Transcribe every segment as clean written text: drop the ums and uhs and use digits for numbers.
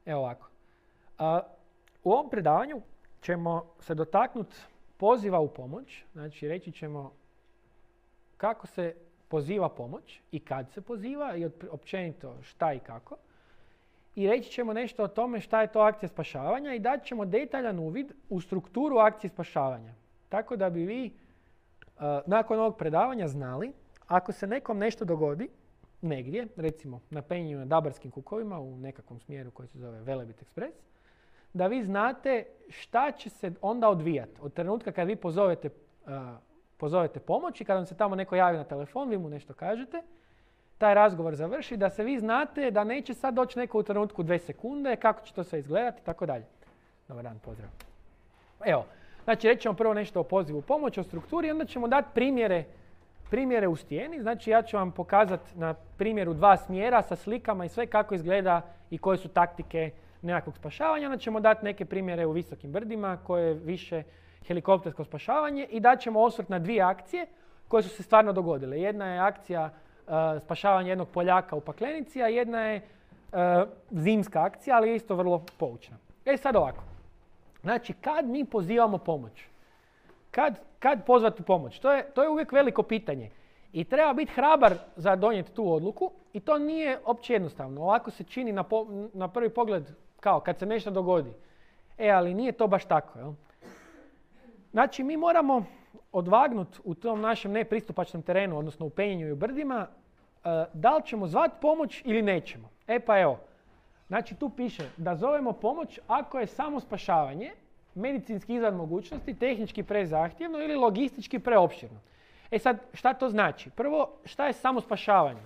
Evo ovako. U ovom predavanju ćemo se dotaknuti poziva u pomoć. Znači reći ćemo kako se poziva pomoć i kad se poziva i općenito šta i kako. I reći ćemo nešto o tome šta je to akcija spašavanja i dat ćemo detaljan uvid u strukturu akcije spašavanja. Tako da bi vi nakon ovog predavanja znali ako se nekom nešto dogodi negdje, recimo na penju na Dabarskim kukovima u nekakvom smjeru koji se zove Velebit Express, da vi znate šta će se onda odvijati. Od trenutka kad vi pozovete pomoć i kad vam se tamo neko javi na telefon, vi mu nešto kažete, taj razgovor završi, da se vi znate da neće sad doći neko u trenutku 2 sekunde, kako će to sve izgledati i tako dalje. Dobar dan, pozdrav. Evo, znači reći ćemo prvo nešto o pozivu pomoć, o strukturi, onda ćemo dati primjere u stijeni. Znači ja ću vam pokazati na primjeru 2 smjera sa slikama i sve kako izgleda i koje su taktike nekakvog spašavanja. Onda ćemo dati neke primjere u visokim brdima koje je više helikoptersko spašavanje i dat ćemo osvrt na 2 akcije koje su se stvarno dogodile. Jedna je akcija spašavanja jednog Poljaka u Paklenici, a jedna je zimska akcija, ali je isto vrlo poučna. Sad ovako. Znači, kad mi pozivamo pomoć? Kad pozvati pomoć? To je uvijek veliko pitanje. I treba biti hrabar za donijeti tu odluku i to nije opće jednostavno. Ovako se čini na prvi pogled kao kad se nešto dogodi. Ali nije to baš tako. Jel? Znači, mi moramo odvagnuti u tom našem nepristupačnom terenu, odnosno u penjenju i u brdima, da li ćemo zvati pomoć ili nećemo. Pa evo, znači tu piše da zovemo pomoć ako je samo spašavanje medicinski izvan mogućnosti, tehnički prezahtjevno ili logistički preopširno. Sad, šta to znači? Prvo, šta je samo spašavanje?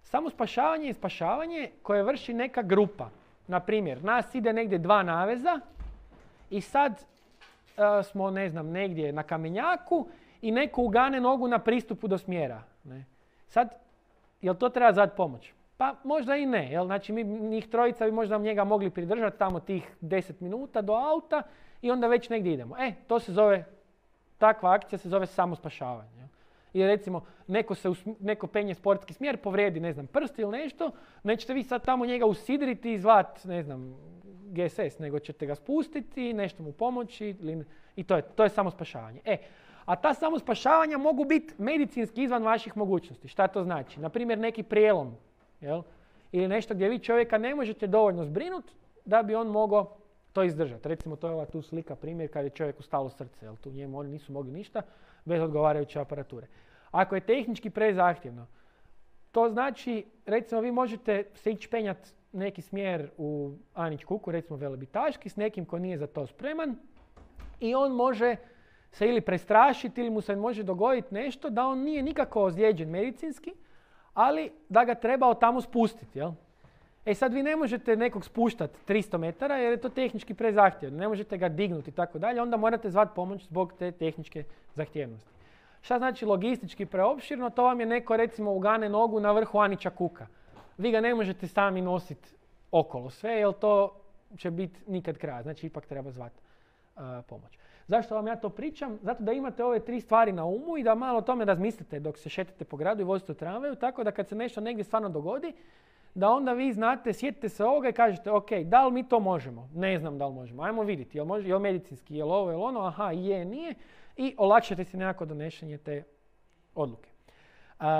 Samo spašavanje je spašavanje koje vrši neka grupa. Na primjer, nas ide negdje 2 naveza i sad smo, ne znam, negdje na kamenjaku i neko ugane nogu na pristupu do smjera. Ne? Sad, jel to treba zvati pomoć? Pa možda i ne. Jel? Znači, njih 3 bi možda njega mogli pridržati tamo tih 10 minuta do auta i onda već negdje idemo. To se zove, takva akcija se zove samo spašavanje. Jel? I recimo, neko penje sportski smjer, povrijedi, ne znam, prst ili nešto, nećete vi sad tamo njega usidriti i zvat, ne znam, GSS, nego ćete ga spustiti, nešto mu pomoći i to je samo spašavanje. A ta samo spašavanja mogu biti medicinski izvan vaših mogućnosti. Šta to znači? Naprimjer, neki prijelom, jel? Ili nešto gdje vi čovjeka ne možete dovoljno zbrinuti da bi on mogao to izdržati. Recimo, to je ova tu slika primjer kad je čovjeku stalo srce, jel? Tu njemu oni nisu mogli ništa bez odgovarajuće aparature. Ako je tehnički prezahtjevno, to znači, recimo, vi možete se ići penjati neki smjer u Anić kuku, recimo Velebitaški, s nekim ko nije za to spreman i on može se ili prestrašiti ili mu se može dogoditi nešto da on nije nikako ozlijeđen medicinski, ali da ga treba od tamo spustiti. Jel? Sad vi ne možete nekog spuštati 300 metara jer je to tehnički prezahtjevno. Ne možete ga dignuti i tako dalje, onda morate zvati pomoć zbog te tehničke zahtjevnosti. Šta znači logistički preopširno? To vam je neko, recimo, ugane nogu na vrhu Anića kuka. Vi ga ne možete sami nositi okolo sve, jer to će biti nikad kraja. Znači, ipak treba zvati pomoć. Zašto vam ja to pričam? Zato da imate ove 3 stvari na umu i da malo o tome razmislite dok se šetate po gradu i vozite u tramvaju, tako da kad se nešto negdje stvarno dogodi, da onda vi znate, sjetite se ovoga i kažete, ok, da li mi to možemo? Ne znam da li možemo. Ajmo vidjeti, jel medicinski, jel ovo, jel ono, aha, je, nije. I olakšate si nekako donošenje te odluke.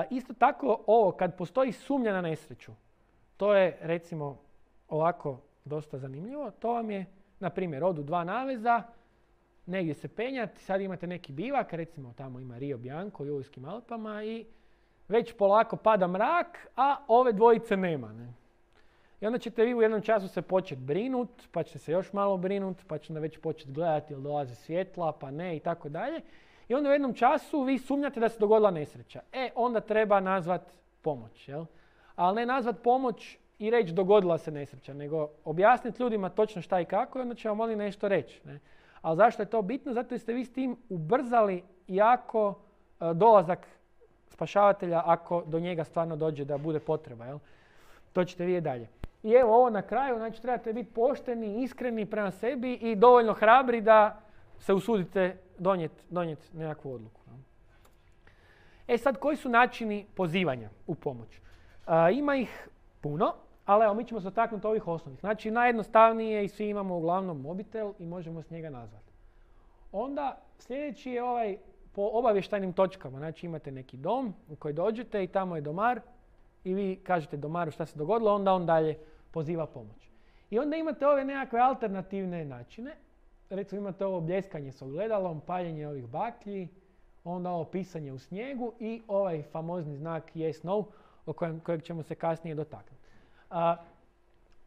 Isto tako, ovo, kad postoji sumnja na nesreću, to je, recimo, ovako dosta zanimljivo. To vam je, na primjer, odu 2 naveza, negdje se penjati, sad imate neki bivak, recimo tamo ima Rio Bianco u Julijskim Alpama i već polako pada mrak, a ove dvojice nema. Ne? I onda ćete vi u jednom času se početi brinuti, pa ćete se još malo brinuti, pa ćete već početi gledati jel dolaze svjetla, pa ne i tako dalje. I onda u jednom času vi sumnjate da se dogodila nesreća. Onda treba nazvat pomoć. Jel? Ali ne nazvat pomoć i reći dogodila se nesreća, nego objasniti ljudima točno šta i kako i onda će vam oni nešto reći. Ne? Ali zašto je to bitno? Zato jer ste vi s tim ubrzali jako dolazak spašavatelja ako do njega stvarno dođe da bude potreba. Jel? To ćete vidjeti dalje. I evo ovo na kraju, znači trebate biti pošteni, iskreni prema sebi i dovoljno hrabri da se usudite donijeti nekakvu odluku. Sad, koji su načini pozivanja u pomoć? Ima ih puno, ali evo, mi ćemo se dotaknuti ovih osnovnih. Znači, najjednostavnije i svi imamo uglavnom mobitel i možemo s njega nazvati. Onda, sljedeći je ovaj po obavještajnim točkama. Znači, imate neki dom u koji dođete i tamo je domar i vi kažete domaru šta se dogodilo, onda on dalje poziva pomoć. I onda imate ove nekakve alternativne načine. Recimo imate ovo bljeskanje s ogledalom, paljenje ovih baklji, onda ovo pisanje u snijegu i ovaj famozni znak yes, no, kojeg ćemo se kasnije dotaknuti.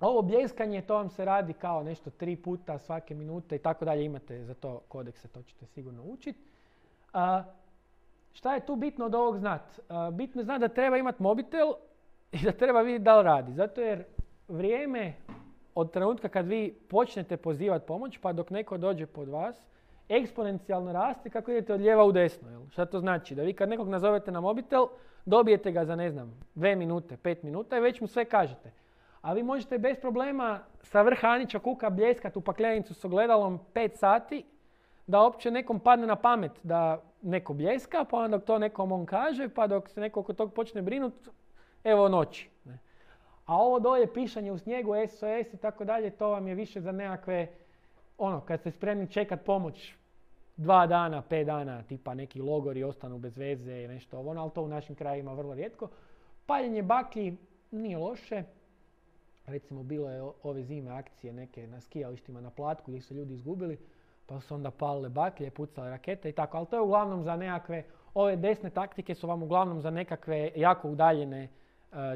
Ovo bljeskanje, to vam se radi kao nešto 3 puta svake minute i tako dalje. Imate za to kodekse, to ćete sigurno učiti. Šta je tu bitno od ovog znati? Bitno je znati da treba imati mobitel i da treba vidjeti da li radi. Zato jer vrijeme od trenutka kad vi počnete pozivati pomoć pa dok neko dođe pod vas, eksponencijalno raste kako idete od lijeva u desno. Jel? Šta to znači? Da vi kad nekog nazovete na mobitel, dobijete ga za 2 minute, 5 minuta i već mu sve kažete. A vi možete bez problema sa vrha Anića kuka bljeskati u paklenicu s ogledalom 5 sati, da uopće nekom padne na pamet da neko bljeska, pa onda dok to nekom on kaže, pa dok se neko oko tog počne brinuti, evo noći. Ne? A ovo dolje pišanje u snijegu, SOS i tako dalje, to vam je više za nekakve, kad ste spremni čekat pomoć 2 dana, 5 dana, tipa neki logori ostanu bez veze i nešto ovo, ali to u našim krajima vrlo rijetko. Paljenje baklji nije loše. Recimo, bilo je ove zime akcije neke na skijalištima na Platku gdje su ljudi izgubili, pa su onda palile baklje, pucale rakete i tako. Ali to je uglavnom za nekakve, ove desne taktike su vam uglavnom za nekakve jako udaljene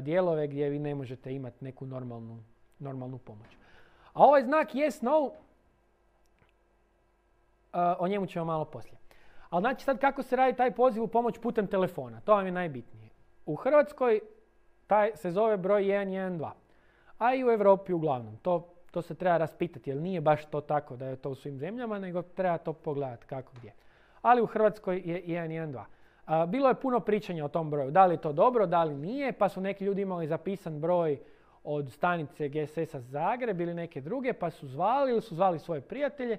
dijelove gdje vi ne možete imati neku normalnu pomoć. A ovaj znak yes, no, o njemu ćemo malo poslije. Ali znači sad kako se radi taj poziv u pomoć putem telefona, to vam je najbitnije. U Hrvatskoj taj se zove broj 112. A i u Europi uglavnom. To se treba raspitati, jer nije baš to tako da je to u svim zemljama, nego treba to pogledati kako gdje. Ali u Hrvatskoj je 112. Bilo je puno pričanja o tom broju. Da li je to dobro, da li nije, pa su neki ljudi imali zapisan broj od stanice GSS-a Zagreb ili neke druge, pa su zvali ili su zvali svoje prijatelje.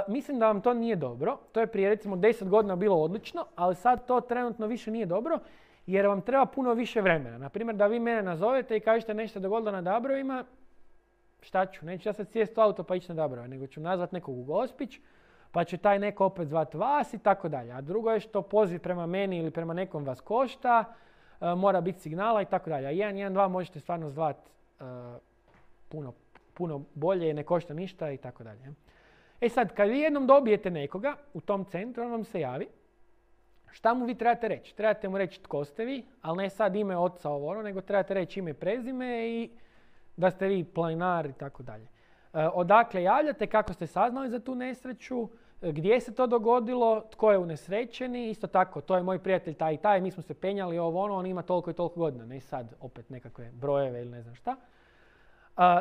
Mislim da vam to nije dobro. To je prije recimo 10 godina bilo odlično, ali sad to trenutno više nije dobro. Jer vam treba puno više vremena. Naprimjer, da vi mene nazovete i kažete nešto dogodilo na Dabrovima, šta ću? Neću ja sad sjesti u auto pa ići na Dabrove, nego ću nazvat nekog u Gospić, pa će taj neko opet zvat vas i tako dalje. A drugo je što poziv prema meni ili prema nekom vas košta, mora biti signala i tako dalje. A 112 možete stvarno zvat puno bolje, ne košta ništa i tako dalje. E sad, kad vi jednom dobijete nekoga u tom centru, on vam se javi. Šta mu vi trebate reći? Trebate mu reći tko ste vi, ali ne sad ime oca nego trebate reći ime i prezime i da ste vi planinar i tako dalje. Odakle javljate, kako ste saznali za tu nesreću, gdje se to dogodilo, tko je unesrećeni, isto tako, to je moj prijatelj taj i taj, mi smo se penjali on ima toliko i toliko godina, ne sad opet nekakve brojeve ili ne znam šta.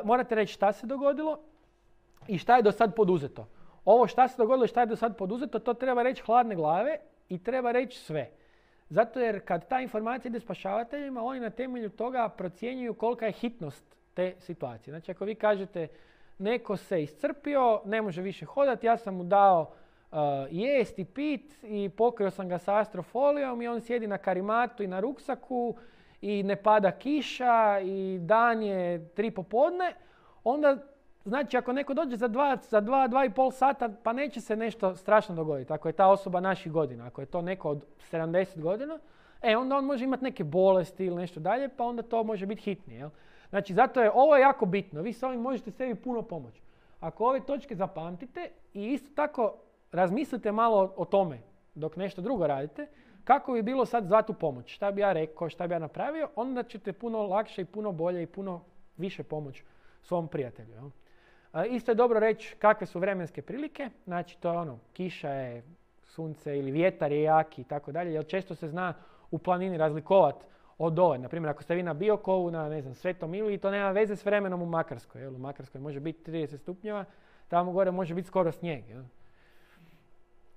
Morate reći šta se dogodilo i šta je do sad poduzeto. Ovo šta se dogodilo i šta je do sad poduzeto, to treba reći hladne glave i treba reći sve. Zato jer kad ta informacija ide spašavateljima, oni na temelju toga procjenjuju kolika je hitnost te situacije. Znači ako vi kažete neko se iscrpio, ne može više hodati, ja sam mu dao jest i pit i pokrio sam ga sa astrofolijom i on sjedi na karimatu i na ruksaku i ne pada kiša i dan je 3 popodne, onda znači ako neko dođe za 2,5 sata, pa neće se nešto strašno dogoditi. Ako je ta osoba naših godina, ako je to neko od 70 godina, onda on može imati neke bolesti ili nešto dalje, pa onda to može biti hitnije. Jel? Znači zato je ovo jako bitno. Vi s ovim možete sebi puno pomoći. Ako ove točke zapamtite i isto tako razmislite malo o tome dok nešto drugo radite, kako bi bilo sad zvati u pomoć, šta bi ja rekao, šta bi ja napravio, onda ćete puno lakše i puno bolje i puno više pomoći svom prijatelju. Jel? Isto je dobro reći kakve su vremenske prilike, znači to je kiša je, sunce ili vjetar je jaki i tako dalje, jer često se zna u planini razlikovati od dole. Naprimjer, ako ste vi na Biokovu, na Svetom Iliji, to nema veze s vremenom u Makarskoj. Jel? U Makarskoj može biti 30 stupnjeva, tamo gore može biti skoro snijeg. Jel?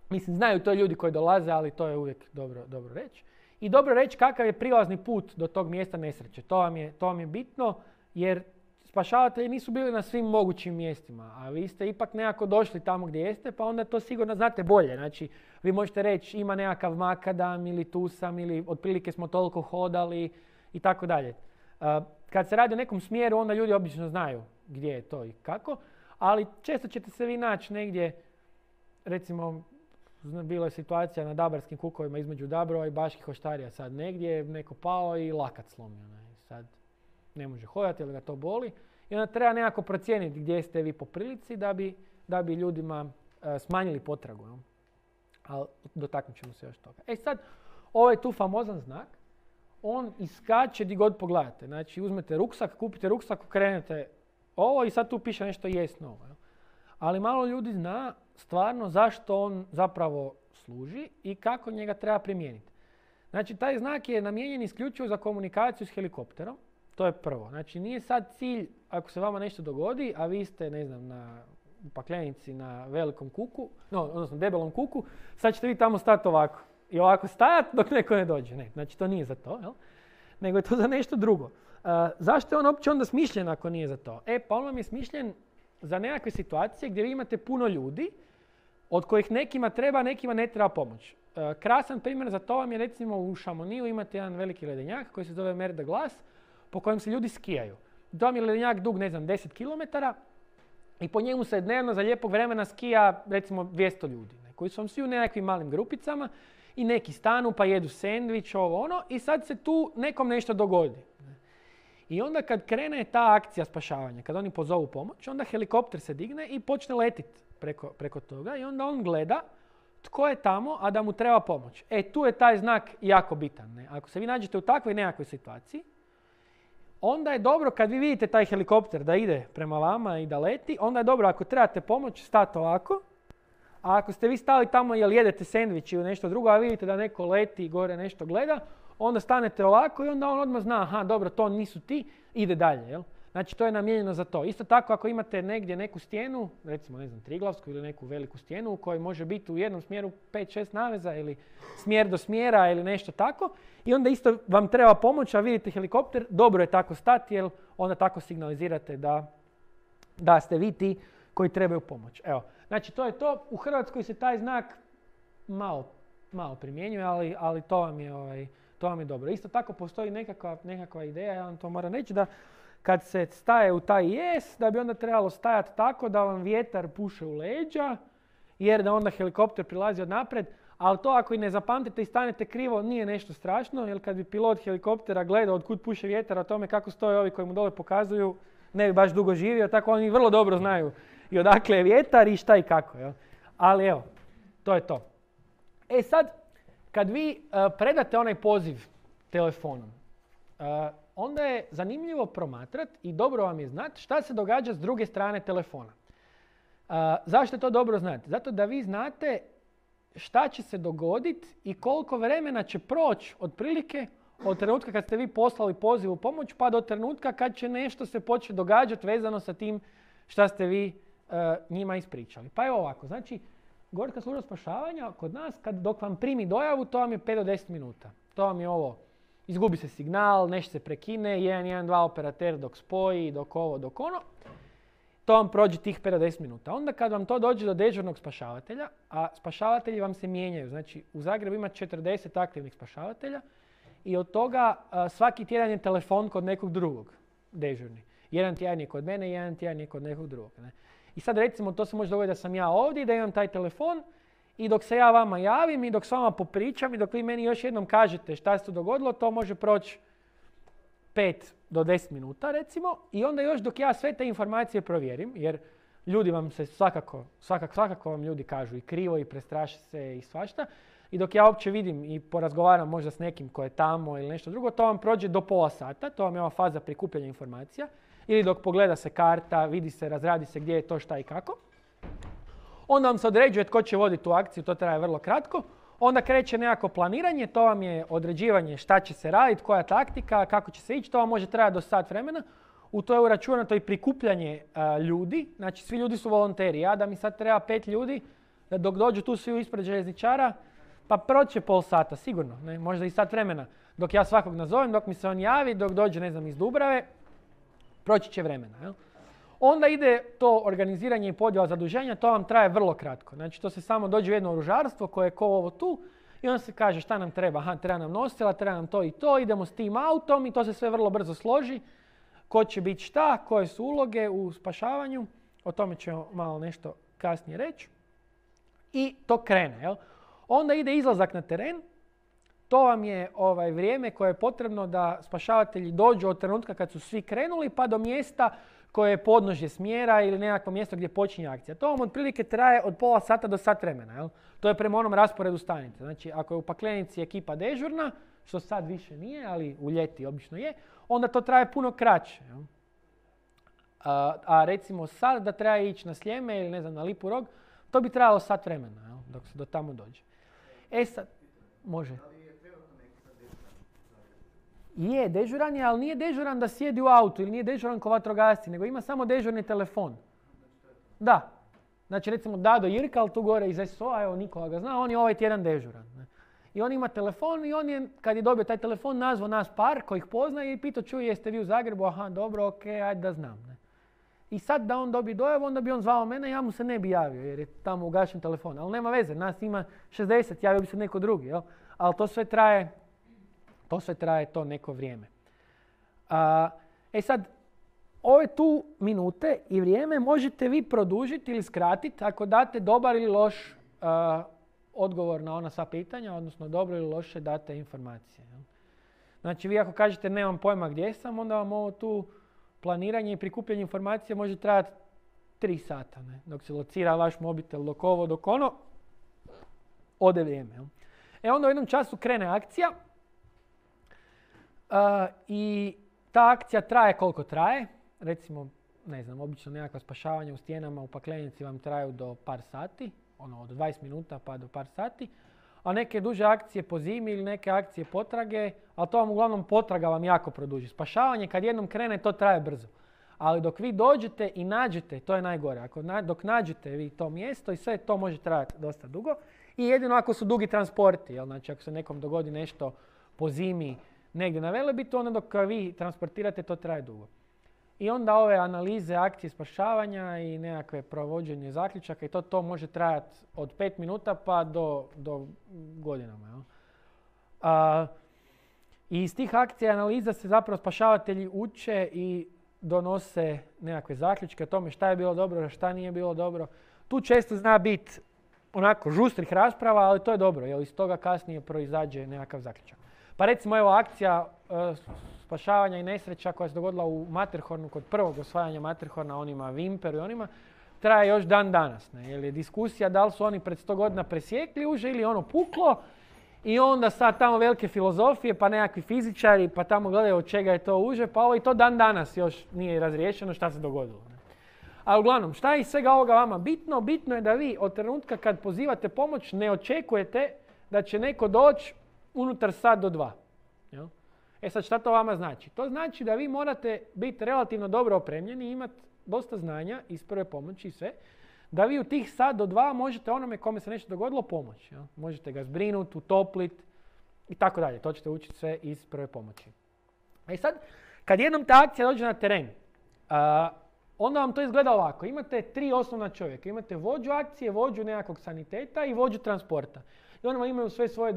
Mislim, znaju to ljudi koji dolaze, ali to je uvijek dobro reći. I dobro reći kakav je prilazni put do tog mjesta nesreće. To vam je bitno, jer spašavatelji nisu bili na svim mogućim mjestima, a vi ste ipak nekako došli tamo gdje jeste, pa onda to sigurno znate bolje. Znači, vi možete reći ima nekakav makadam ili tu sam ili otprilike smo toliko hodali i tako dalje. kad se radi o nekom smjeru, onda ljudi obično znaju gdje je to i kako, ali često ćete se vi naći negdje, recimo, bila je situacija na Dabarskim kukovima između Dabrova i Baških Oštarija, sad negdje neko pao i lakat slomio. Sad ne može hodati ili ga to boli. I onda treba nekako procijeniti gdje ste vi po prilici da bi ljudima smanjili potragu. No? Ali dotaknut ćemo se još toga. Sad, ovaj tu famozan znak, on iskače di god pogledate. Znači, uzmete ruksak, kupite ruksak, krenete ovo i sad tu piše nešto jest novo. Ali malo ljudi zna stvarno zašto on zapravo služi i kako njega treba primijeniti. Znači, taj znak je namijenjen isključivo za komunikaciju s helikopterom. To je prvo. Znači, nije sad cilj, ako se vama nešto dogodi, a vi ste, ne znam, u paklenici na velikom kuku, odnosno debelom kuku, sad ćete vi tamo stati ovako. I ovako stajati dok neko ne dođe. Ne, znači, to nije za to, jel? Nego je to za nešto drugo. Zašto je on uopće onda smišljen ako nije za to? Pa on vam je smišljen za nekakve situacije gdje vi imate puno ljudi od kojih nekima treba, nekima ne treba pomoć. Krasan primjer za to vam je recimo u Šamoniju imate jedan veliki ledenjak koji se zove Mer de Glace po kojem se ljudi skijaju. To vam je ledenjak dug, 10 km i po njemu se dnevno za lijepog vremena skija recimo 200 ljudi koji su vam svi u nekakvim malim grupicama i neki stanu pa jedu sendvič, ovo ono i sad se tu nekom nešto dogodi. I onda kad krene ta akcija spašavanja, kad oni pozovu pomoć, onda helikopter se digne i počne letiti preko toga i onda on gleda tko je tamo, a da mu treba pomoć. Tu je taj znak jako bitan. Ne? Ako se vi nađete u takvoj nekakvoj situaciji, onda je dobro kad vi vidite taj helikopter da ide prema vama i da leti, onda je dobro ako trebate pomoć stati ovako, a ako ste vi stali tamo jer jedete sendvič ili nešto drugo, a vidite da neko leti i gore nešto gleda, onda stanete ovako i onda on odmah zna, aha, dobro, to nisu ti, ide dalje. Jel? Znači, to je namijenjeno za to. Isto tako, ako imate negdje neku stijenu, recimo, ne znam, Triglavsku ili neku veliku stijenu u kojoj može biti u jednom smjeru 5-6 naveza ili smjer do smjera ili nešto tako, i onda isto vam treba pomoć, a vidite helikopter, dobro je tako stati, jer onda tako signalizirate da ste vi ti koji trebaju pomoć. Evo, znači, to je to. U Hrvatskoj se taj znak malo primjenjuje, ali to vam je dobro. Isto tako postoji nekakva ideja, ja vam to moram reći, da kad se staje u taj jes, da bi onda trebalo stajati tako da vam vjetar puše u leđa, jer da onda helikopter prilazi od naprijed, ali to ako i ne zapamtite i stanete krivo, nije nešto strašno, jer kad bi pilot helikoptera gledao od kud puše vjetar, o tome kako stoje ovi koji mu dole pokazuju, ne bi baš dugo živio, tako oni vrlo dobro znaju i odakle je vjetar i šta i kako. Jel? Ali evo, to je to. Sad, kad vi predate onaj poziv telefonom, onda je zanimljivo promatrati i dobro vam je znati šta se događa s druge strane telefona. Zašto je to dobro znati? Zato da vi znate šta će se dogoditi i koliko vremena će proći otprilike od trenutka kad ste vi poslali poziv u pomoć pa do trenutka kad će nešto se početi događati vezano sa tim šta ste vi njima ispričali. Pa evo ovako, znači Gorska služba spašavanja kod nas dok vam primi dojavu, to vam je 5 do 10 minuta. To vam je ovo, izgubi se signal, nešto se prekine, 112 operater dok spoji, dok ovo, dok ono. To vam prođe tih 5 do 10 minuta. Onda kad vam to dođe do dežurnog spašavatelja, a spašavatelji vam se mijenjaju. Znači u Zagrebu ima 40 aktivnih spašavatelja i od toga svaki tjedan je telefon kod nekog drugog dežurni. Jedan tjedan je kod mene, jedan tjedan je kod nekog drugog. Ne? I sad recimo to se može dogoditi da sam ja ovdje, da imam taj telefon i dok se ja vama javim i dok s vama popričam i dok vi meni još jednom kažete šta se tu dogodilo, to može proći 5 do 10 minuta recimo i onda još dok ja sve te informacije provjerim, jer ljudi vam se svakako vam ljudi kažu i krivo i prestraše se i svašta, i dok ja uopće vidim i porazgovaram možda s nekim ko je tamo ili nešto drugo, to vam prođe do pola sata, to vam je ova faza prikupljanja informacija, ili dok pogleda se karta, vidi se, razradi se gdje je to, šta i kako. Onda vam se određuje tko će voditi tu akciju, to traje vrlo kratko. Onda kreće nekako planiranje, to vam je određivanje šta će se raditi, koja taktika, kako će se ići, to vam može trajati do sat vremena. U to je uračunato i prikupljanje ljudi, znači svi ljudi su volonteri. Ja da mi sad treba 5 ljudi, da dok dođu tu svi ispred željezničara, pa proće pol sata, sigurno, ne? Možda i sat vremena. Dok ja svakog nazovem, dok mi se on javi, dok dođe, ne znam, iz Dubrave, proći će vremena. Jel? Onda ide to organiziranje i podjela zaduženja, to vam traje vrlo kratko. Znači to se samo dođe u jedno oružarstvo koje je ko ovo tu i onda se kaže šta nam treba. Aha, treba nam nosila, treba nam to i to, idemo s tim autom i to se sve vrlo brzo složi. ko će biti šta, koje su uloge u spašavanju. O tome ćemo malo nešto kasnije reći. I to krene. Jel? Onda ide izlazak na teren. To vam je vrijeme koje je potrebno da spašavatelji dođu od trenutka kad su svi krenuli pa do mjesta koje je podnožje smjera ili nekakvo mjesto gdje počinje akcija. To vam otprilike traje od pola sata do sat vremena. Jel? To je prema onom rasporedu stanice. Znači, ako je u Paklenici ekipa dežurna, što sad više nije, ali u ljeti obično je, onda to traje puno kraće. Jel? A recimo sad da treba ići na Sljeme ili ne znam, na Lipu Rog, to bi trajalo sat vremena, jel? Dok se do tamo dođe. Sad, može. Je, dežuran je, ali nije dežuran da sjedi u autu ili nije dežuran ko vatrogasci, nego ima samo dežurni telefon. Da. Znači recimo Dado Jirkal tu gore iz SO-a, evo Nikola ga zna, on je ovaj tjedan dežuran. Ne? I on ima telefon i on je, kad je dobio taj telefon, nazvao nas par koji ih poznaje i pitao, čuj, jeste vi u Zagrebu? Aha, dobro, okej, ajde da znam. Ne? I sad da on dobije dojavu, onda bi on zvao mene, ja mu se ne bi javio jer je tamo ugašen telefon. Ali nema veze, nas ima 60, javio bi se neko drugi. Jel? Ali to sve traje to neko vrijeme. Sad, ove tu minute i vrijeme možete vi produžiti ili skratiti ako date dobar ili loš odgovor na ona sva pitanja, odnosno dobro ili loše date informacije. Jel? Znači, vi ako kažete nemam pojma gdje sam, onda vam ovo tu planiranje i prikupljanje informacija može trajati 3 sata. Ne? Dok se locira vaš mobitel, dok ovo, dok ono, ode vrijeme. Jel? Onda u jednom času krene akcija. I ta akcija traje koliko traje. Recimo, ne znam, obično nekakva spašavanja u stijenama u Paklenici vam traju do par sati. Od 20 minuta pa do par sati. A neke duže akcije po zimi ili neke akcije potrage, ali to vam uglavnom potraga vam jako produži. Spašavanje kad jednom krene to traje brzo. Ali dok vi dođete i nađete, to je najgore. Dok nađete vi to mjesto i sve to može trajati dosta dugo. I jedino ako su dugi transporti, jel? Znači ako se nekom dogodi nešto po zimi negdje na Velebitu, onda dok vi transportirate to traje dugo. I onda ove analize, akcije spašavanja i nekakve provođenje zaključaka i to može trajati od 5 minuta pa do godinama. Jel? I iz tih akcija i analiza se zapravo spašavatelji uče i donose nekakve zaključke o tome šta je bilo dobro, šta nije bilo dobro. Tu često zna biti onako žustrih rasprava, ali to je dobro, jer iz toga kasnije proizađe nekakav zaključak. Pa recimo evo akcija spašavanja i nesreća koja se dogodila u Matterhornu kod prvog osvajanja Matterhorna, onima Wimperu i onima, traje još dan danas. Ne? Jer je diskusija da li su oni pred 100 godina presjekli uže ili ono puklo i onda sad tamo velike filozofije pa nekakvi fizičari pa tamo gledaju od čega je to uže pa ovo i to dan danas još nije razriješeno šta se dogodilo. Ne? A uglavnom, šta je iz svega ovoga vama bitno? Bitno je da vi od trenutka kad pozivate pomoć ne očekujete da će neko doći unutar sat do 2. Jel? Sad šta to vama znači? To znači da vi morate biti relativno dobro opremljeni i imati dosta znanja iz prve pomoći i sve, da vi u tih sat do 2 možete onome kome se nešto dogodilo pomoći. Jel? Možete ga zbrinuti, utopliti i tako dalje. To ćete učiti sve iz prve pomoći. Sad, kad jednom ta akcija dođe na teren, onda vam to izgleda ovako. Imate 3 osnovna čovjeka. Imate vođu akcije, vođu nekakvog saniteta i vođu transporta. I oni vam imaju sve svoje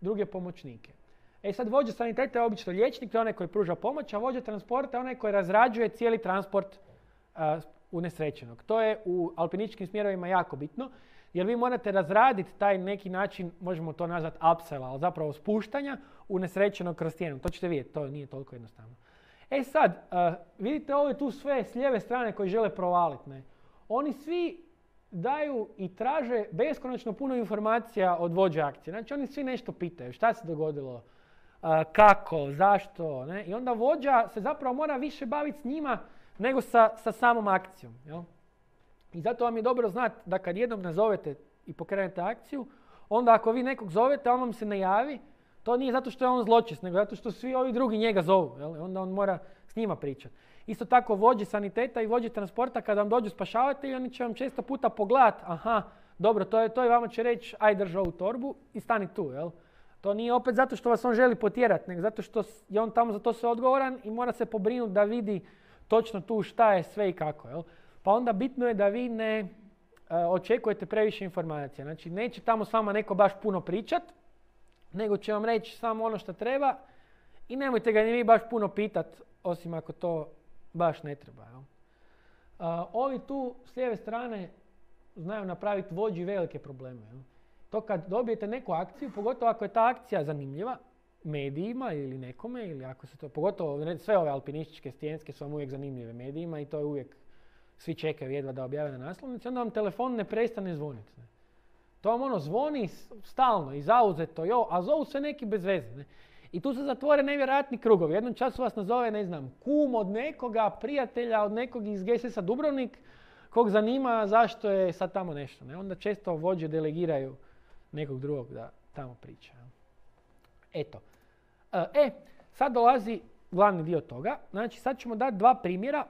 druge pomoćnike. Sad vođa saniteta je obično liječnik, to je onaj koji pruža pomoć, a vođa transporta je onaj koji razrađuje cijeli transport unesrećenog. To je u alpinističkim smjerovima jako bitno, jer vi morate razraditi taj neki način, možemo to nazvati upsella, ali zapravo spuštanja unesrećenog kroz stijenu. To ćete vidjeti, to nije toliko jednostavno. Sad, vidite ove tu sve s lijeve strane koji žele provaliti. Ne? Oni svi daju i traže beskonačno puno informacija od vođe akcije. Znači oni svi nešto pitaju, šta se dogodilo, kako, zašto. Ne? I onda vođa se zapravo mora više baviti s njima nego sa samom akcijom. Jel? I zato vam je dobro znati da kad jednom nazovete i pokrenete akciju, onda ako vi nekog zovete, on vam se ne javi, to nije zato što je on zločest, nego zato što svi ovi drugi njega zovu. Jel? Onda on mora s njima pričati. Isto tako vođe saniteta i vođe transporta, kada vam dođu spašavatelji, oni će vam često puta pogledati, aha, dobro, to je vama će reći, aj drži ovu torbu i stani tu. Jel? To nije opet zato što vas on želi potjerati, nego zato što je on tamo za to sve odgovoran i mora se pobrinuti da vidi točno tu šta je sve i kako. Jel? Pa onda bitno je da vi ne očekujete previše informacija. Znači neće tamo s vama neko baš puno pričat, nego će vam reći samo ono što treba i nemojte ga ni vi baš puno pitat, osim ako to baš ne treba. Jel? Ovi tu s lijeve strane znaju napraviti vođi velike probleme. Jel? To kad dobijete neku akciju, pogotovo ako je ta akcija zanimljiva, medijima ili nekome, ili ako se to, pogotovo sve ove alpinističke stijenske su vam uvijek zanimljive medijima i to je uvijek, svi čekaju jedva da objave na naslovnici, onda vam telefon ne prestane zvoniti. Ne? To vam ono zvoni stalno i zauzeto, a zovu se neki bez veze. Ne? I tu se zatvore nevjerojatni krugovi. Jednom času vas nazove, ne znam, kum od nekoga, prijatelja od nekog iz GSS-a Dubrovnik, kog zanima zašto je sad tamo nešto. Ne? Onda često vođe delegiraju nekog drugog da tamo priča. Eto. Sad dolazi glavni dio toga. Znači, sad ćemo dati dva primjera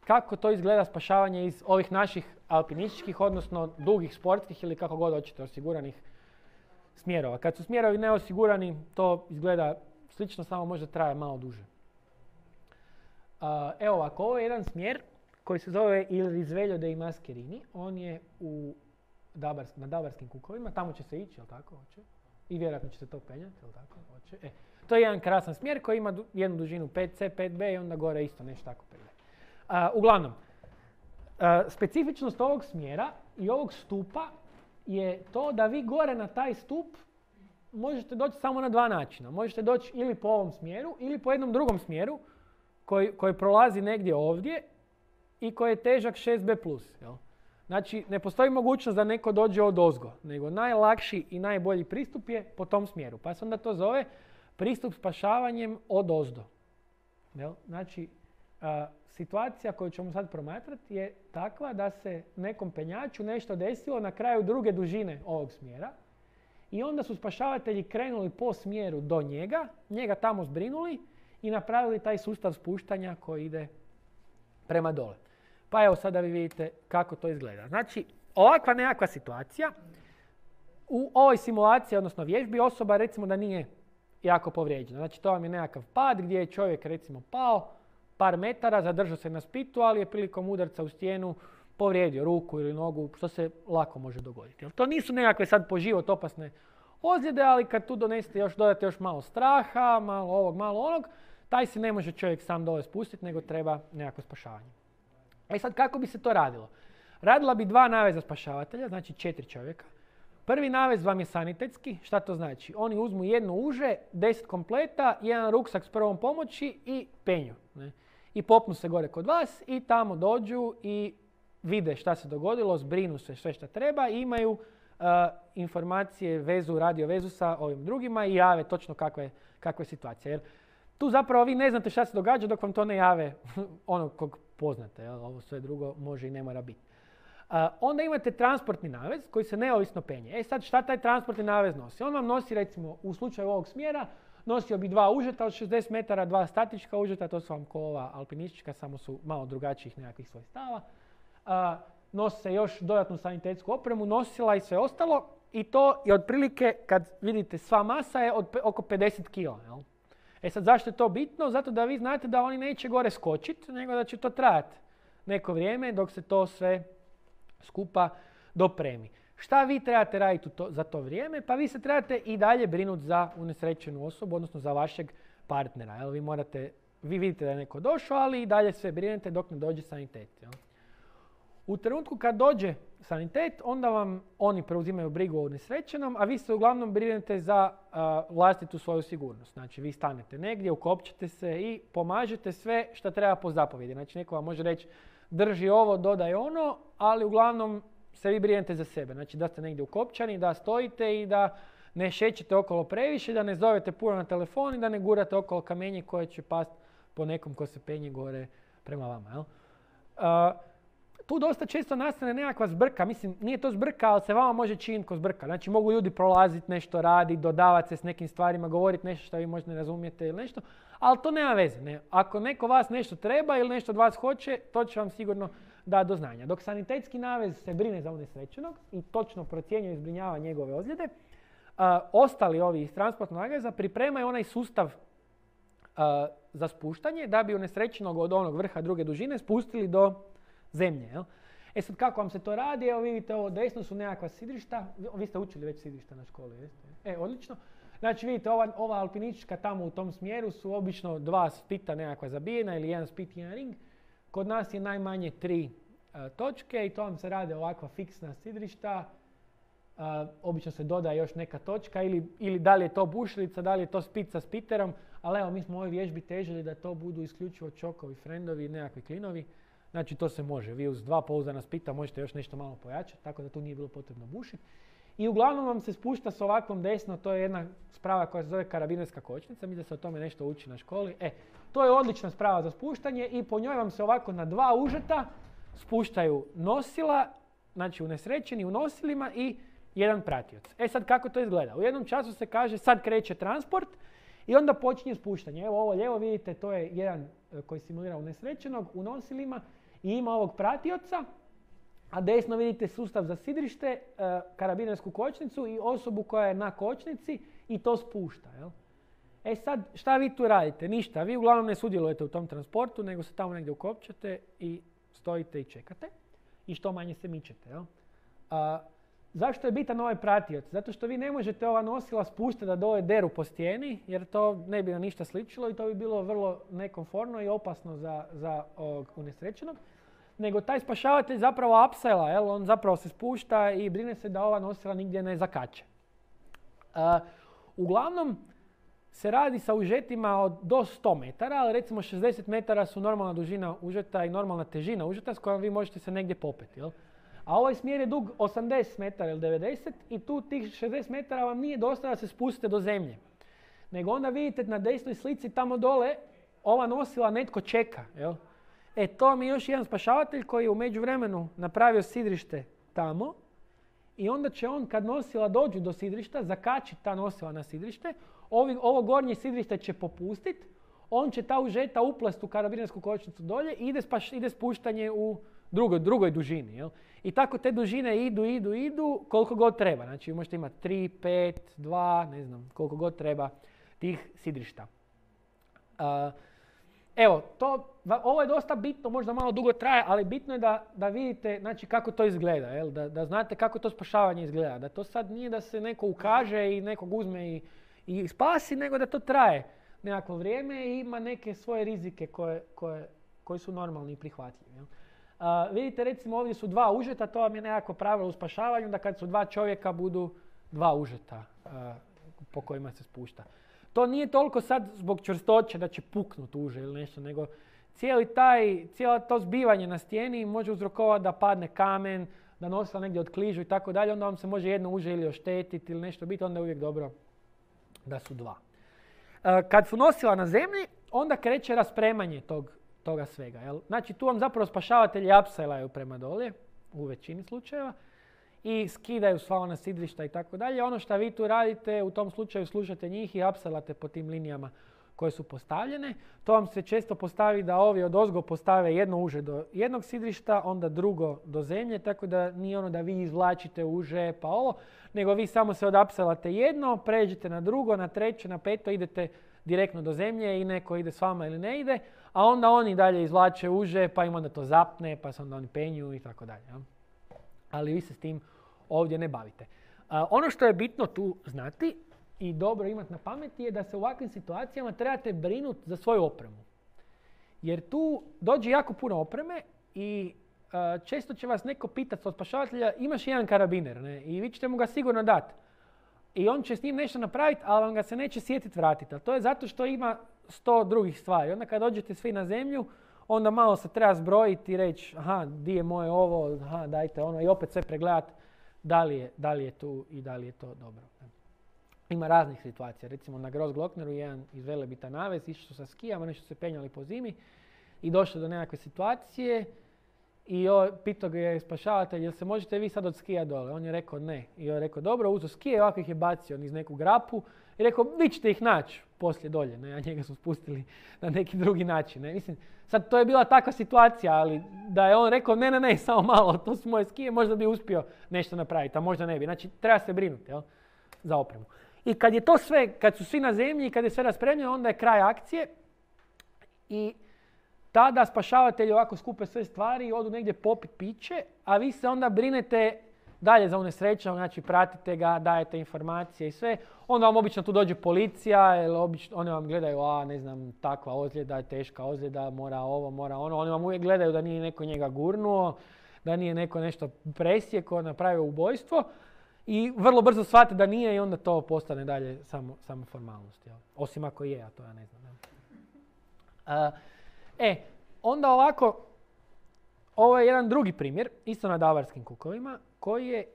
kako to izgleda spašavanje iz ovih naših alpinističkih, odnosno dugih sportskih ili kako god hoćete osiguranih smjerova. Kad su smjerovi neosigurani, to izgleda slično, samo možda traje malo duže. Evo ovako, ovo je jedan smjer koji se zove Il Risveglio dei Mascherini. On je na Dabarskim kukovima, tamo će se ići, jel tako? Hoće. I vjerojatno će se to penjati, jel tako? Hoće. To je jedan krasan smjer koji ima jednu dužinu 5C, 5B i onda gore isto nešto tako penje. Uglavnom, specifičnost ovog smjera i ovog stupa je to da vi gore na taj stup možete doći samo na dva načina. Možete doći ili po ovom smjeru ili po jednom drugom smjeru koji prolazi negdje ovdje i koji je težak 6B+. Jel? Znači, ne postoji mogućnost da neko dođe odozgo, nego najlakši i najbolji pristup je po tom smjeru. Pa se onda to zove pristup spašavanjem odozdo. Jel? Znači, situacija koju ćemo sad promatrati je takva da se nekom penjaču nešto desilo na kraju druge dužine ovog smjera i onda su spašavatelji krenuli po smjeru do njega tamo zbrinuli i napravili taj sustav spuštanja koji ide prema dole. Pa evo sada vi vidite kako to izgleda. Znači, ovakva nekakva situacija, u ovoj simulaciji, odnosno vježbi, osoba recimo da nije jako povrijeđena. Znači, to vam je nekakav pad gdje je čovjek recimo pao par metara, zadržao se na spitu, ali je prilikom udarca u stijenu povrijedio ruku ili nogu, što se lako može dogoditi. To nisu nekakve sad po život opasne ozljede, ali kad tu dodate još malo straha, malo ovog, malo onog, taj se ne može čovjek sam dole spustiti, nego treba nekako spašavanje. Sad kako bi se to radilo? Radila bi dva naveza spašavatelja, znači 4 čovjeka. Prvi navez vam je sanitetski. Šta to znači? Oni uzmu jedno uže, 10 kompleta, jedan ruksak s prvom pomoći i penju. Ne? I popnu se gore kod vas i tamo dođu i vide šta se dogodilo, zbrinu se sve šta treba i imaju informacije, radio vezu sa ovim drugima i jave točno kakva je situacija. Jer tu zapravo vi ne znate šta se događa dok vam to ne jave onog kog poznate. Jel? Ovo sve drugo može i ne mora biti. Onda imate transportni navez koji se neovisno penje. Sad šta taj transportni navez nosi? On vam nosi recimo u slučaju ovog smjera nosio bi dva užeta od 60 metara, dva statička užeta, to su vam ko ova alpinistička, samo su malo drugačijih nekakvih svojstava. Nosi se još dodatnu sanitetsku opremu, nosila i sve ostalo i to je otprilike, kad vidite sva masa je oko 50 kila. Jel? Sad zašto je to bitno? Zato da vi znate da oni neće gore skočiti, nego da će to trajati neko vrijeme dok se to sve skupa dopremi. Šta vi trebate raditi za to vrijeme? Pa vi se trebate i dalje brinuti za unesrećenu osobu, odnosno za vašeg partnera. Jel? Vi vidite da je neko došao, ali i dalje sve brinete dok ne dođe sanitet. Jel? U trenutku kad dođe sanitet, onda vam oni preuzimaju brigu o unesrećenom, a vi se uglavnom brinete za vlastitu svoju sigurnost. Znači, vi stanete negdje, ukopčete se i pomažete sve što treba po zapovjedi. Znači, neko vam može reći drži ovo, dodaj ono, ali uglavnom se vi brinete za sebe. Znači, da ste negdje ukopčani, da stojite i da ne šećete okolo previše, da ne zovete puno na telefon i da ne gurate okolo kamenje koje će pasti po nekom ko se penje gore prema vama. Jel? Tu dosta često nastane nekakva zbrka. Mislim, nije to zbrka, ali se vama može činiti ko zbrka. Znači, mogu ljudi prolaziti, nešto raditi, dodavati se s nekim stvarima, govoriti nešto što vi možda ne razumijete ili nešto, ali to nema veze. Ne? Ako neko vas nešto treba ili nešto od vas hoće, to će vam sigurno dati do znanja. Dok sanitetski navez se brine za unesrećenog i točno procjenjuje i zbrinjava njegove ozljede, ostali ovi iz transportnog naveza pripremaju onaj sustav za spuštanje da bi unesrećenog od onog vrha druge dužine spustili do zemlje. Jel? Sad kako vam se to radi? Evo vidite ovo desno su nekakva sidrišta. Vi ste učili već sidrišta na školi, jeste? Odlično. Znači vidite, ova alpinistička tamo u tom smjeru su obično 2 spita nekakva zabijena ili 1 spit i 1 ring. Kod nas je najmanje 3 točke i to vam se rade ovakva fiksna sidrišta. Obično se dodaje još neka točka ili da li je to bušilica, da li je to spit sa spiterom, ali evo mi smo u ovoj vježbi težili da to budu isključivo čokovi, friendovi i nekakvi klinovi. Znači to se može, vi uz 2 pouzdana spita možete još nešto malo pojačati, tako da tu nije bilo potrebno bušiti. I uglavnom vam se spušta s ovakvom desno, to je jedna sprava koja se zove karabinerska kočnica, mislim da se o tome nešto uči na školi. To je odlična sprava za spuštanje i po njoj vam se ovako na 2 užeta spuštaju nosila, znači unesrećeni u nosilima i jedan pratioc. Sad kako to izgleda? U jednom času se kaže sad kreće transport i onda počinje spuštanje. Evo ovo lijevo vidite, to je jedan koji simulira unesrećenog u nosilima i ima ovog pratioca, a desno vidite sustav za sidrište, karabinersku kočnicu i osobu koja je na kočnici i to spušta. Jel? Sad šta vi tu radite? Ništa, vi uglavnom ne sudjelujete u tom transportu, nego se tamo negdje ukopčate i stojite i čekate i što manje se mičete. Jel? Zašto je bitan ovaj pratioc? Zato što vi ne možete ova nosila spuštati da dole deru po stijeni, jer to ne bi na ništa sličilo i to bi bilo vrlo nekomfortno i opasno za unesrećenog. Nego taj spašavatelj zapravo upsela, on zapravo se spušta i brine se da ova nosila nigdje ne zakače. Uglavnom se radi sa užetima do 100 metara, ali recimo 60 metara su normalna dužina užeta i normalna težina užeta s kojom vi možete se negdje popeti. Jel? A ovaj smjer je dug 80 metara ili 90 i tu tih 60 metara vam nije dosta da se spustite do zemlje. Nego onda vidite na desnoj slici tamo dole ova nosila netko čeka. Jel? To mi je još jedan spašavatelj koji je u međuvremenu napravio sidrište tamo i onda će on kad nosila dođu do sidrišta zakačiti ta nosila na sidrište, ovo gornje sidrište će popustiti, on će ta užeta uplast u karabinersku kočnicu dolje i ide spuštanje u drugoj dužini. Jel? I tako te dužine idu koliko god treba. Znači možete imati 3, 5, 2, ne znam koliko god treba tih sidrišta. Ovo je dosta bitno, možda malo dugo traje, ali bitno je da vidite znači, kako to izgleda, jel? Da znate kako to spašavanje izgleda. Da to sad nije da se neko ukaže i nekog uzme i spasi, nego da to traje nekakvo vrijeme i ima neke svoje rizike koji su normalni i prihvatljivi. Jel? Vidite recimo ovdje su 2 užeta, to vam je nekako pravilo u spašavanju, da kad su 2 čovjeka budu 2 užeta po kojima se spušta. To nije toliko sad zbog čvrstoće da će puknut uže ili nešto, nego cijelo to zbivanje na stijeni može uzrokovati da padne kamen, da nosila negdje otkližu i tako dalje, onda vam se može jedno uže ili oštetiti ili nešto biti, onda je uvijek dobro da su 2. Kad su nosila na zemlji, onda kreće raspremanje toga svega. Jel? Znači tu vam zapravo spašavatelji upselaju prema dolje, u većini slučajeva, i skidaju sva ona sidrišta i tako dalje. Ono što vi tu radite, u tom slučaju slušate njih i upselate po tim linijama koje su postavljene. To vam se često postavi da ovi odozgo postave jedno uže do jednog sidrišta, onda drugo do zemlje, tako da nije ono da vi izvlačite uže pa ovo, nego vi samo se odapselate jedno, pređete na drugo, na treće, na peto, idete direktno do zemlje i neko ide s vama ili ne ide, a onda oni dalje izvlače uže, pa im onda to zapne, pa se onda oni penju i tako dalje. Ali vi se s tim ovdje ne bavite. Ono što je bitno tu znati i dobro imati na pameti je da se u ovakvim situacijama trebate brinuti za svoju opremu. Jer tu dođe jako puno opreme i često će vas neko pitati od spašavatelja imaš jedan karabiner, ne? I vi ćete mu ga sigurno dati. I on će s njim nešto napraviti, ali vam ga se neće sjetiti vratiti. A to je zato što ima 100 drugih stvari. Onda kad dođete svi na zemlju, onda malo se treba zbrojiti i reći aha, di je moje ovo, aha, dajte ono i opet sve pregledati da li je tu i da li je to dobro. Ima raznih situacija. Recimo na Grossglockneru jedan iz Velebita navez, išli su sa skijama, nešto se penjali po zimi i došli do nekakve situacije i pitao ga je spašavatelj, jel se možete vi sad od skija dole? On je rekao ne. I on je rekao dobro, uzeo skije, ovako ih je bacio niz neku grapu i rekao vi ćete ih naći poslije dolje, ne? A njega su spustili na neki drugi način. Ne? Mislim, sad to je bila takva situacija, ali da je on rekao ne, samo malo, to su moje skije, možda bi uspio nešto napraviti, a možda ne bi. Znači, treba se brinuti za opremu. I kad je to sve, kad su svi na zemlji i kad je sve raspremljeno, onda je kraj akcije i tada spašavatelji ovako skupe sve stvari i odu negdje popit piće, a vi se onda brinete dalje za unesrećenog, znači pratite ga, dajete informacije i sve. Onda vam obično tu dođe policija, jer oni vam gledaju, ne znam, takva ozljeda, teška ozljeda, mora ovo, mora ono. Oni vam uvijek gledaju da nije neko njega gurnuo, da nije neko nešto presjekao, napravio ubojstvo. I vrlo brzo shvate da nije i onda to postane dalje samo formalnost. Jel? Osim ako je, a to ja ne znam. Onda ovako, ovo je jedan drugi primjer, isto na Davarskim kukovima, koji je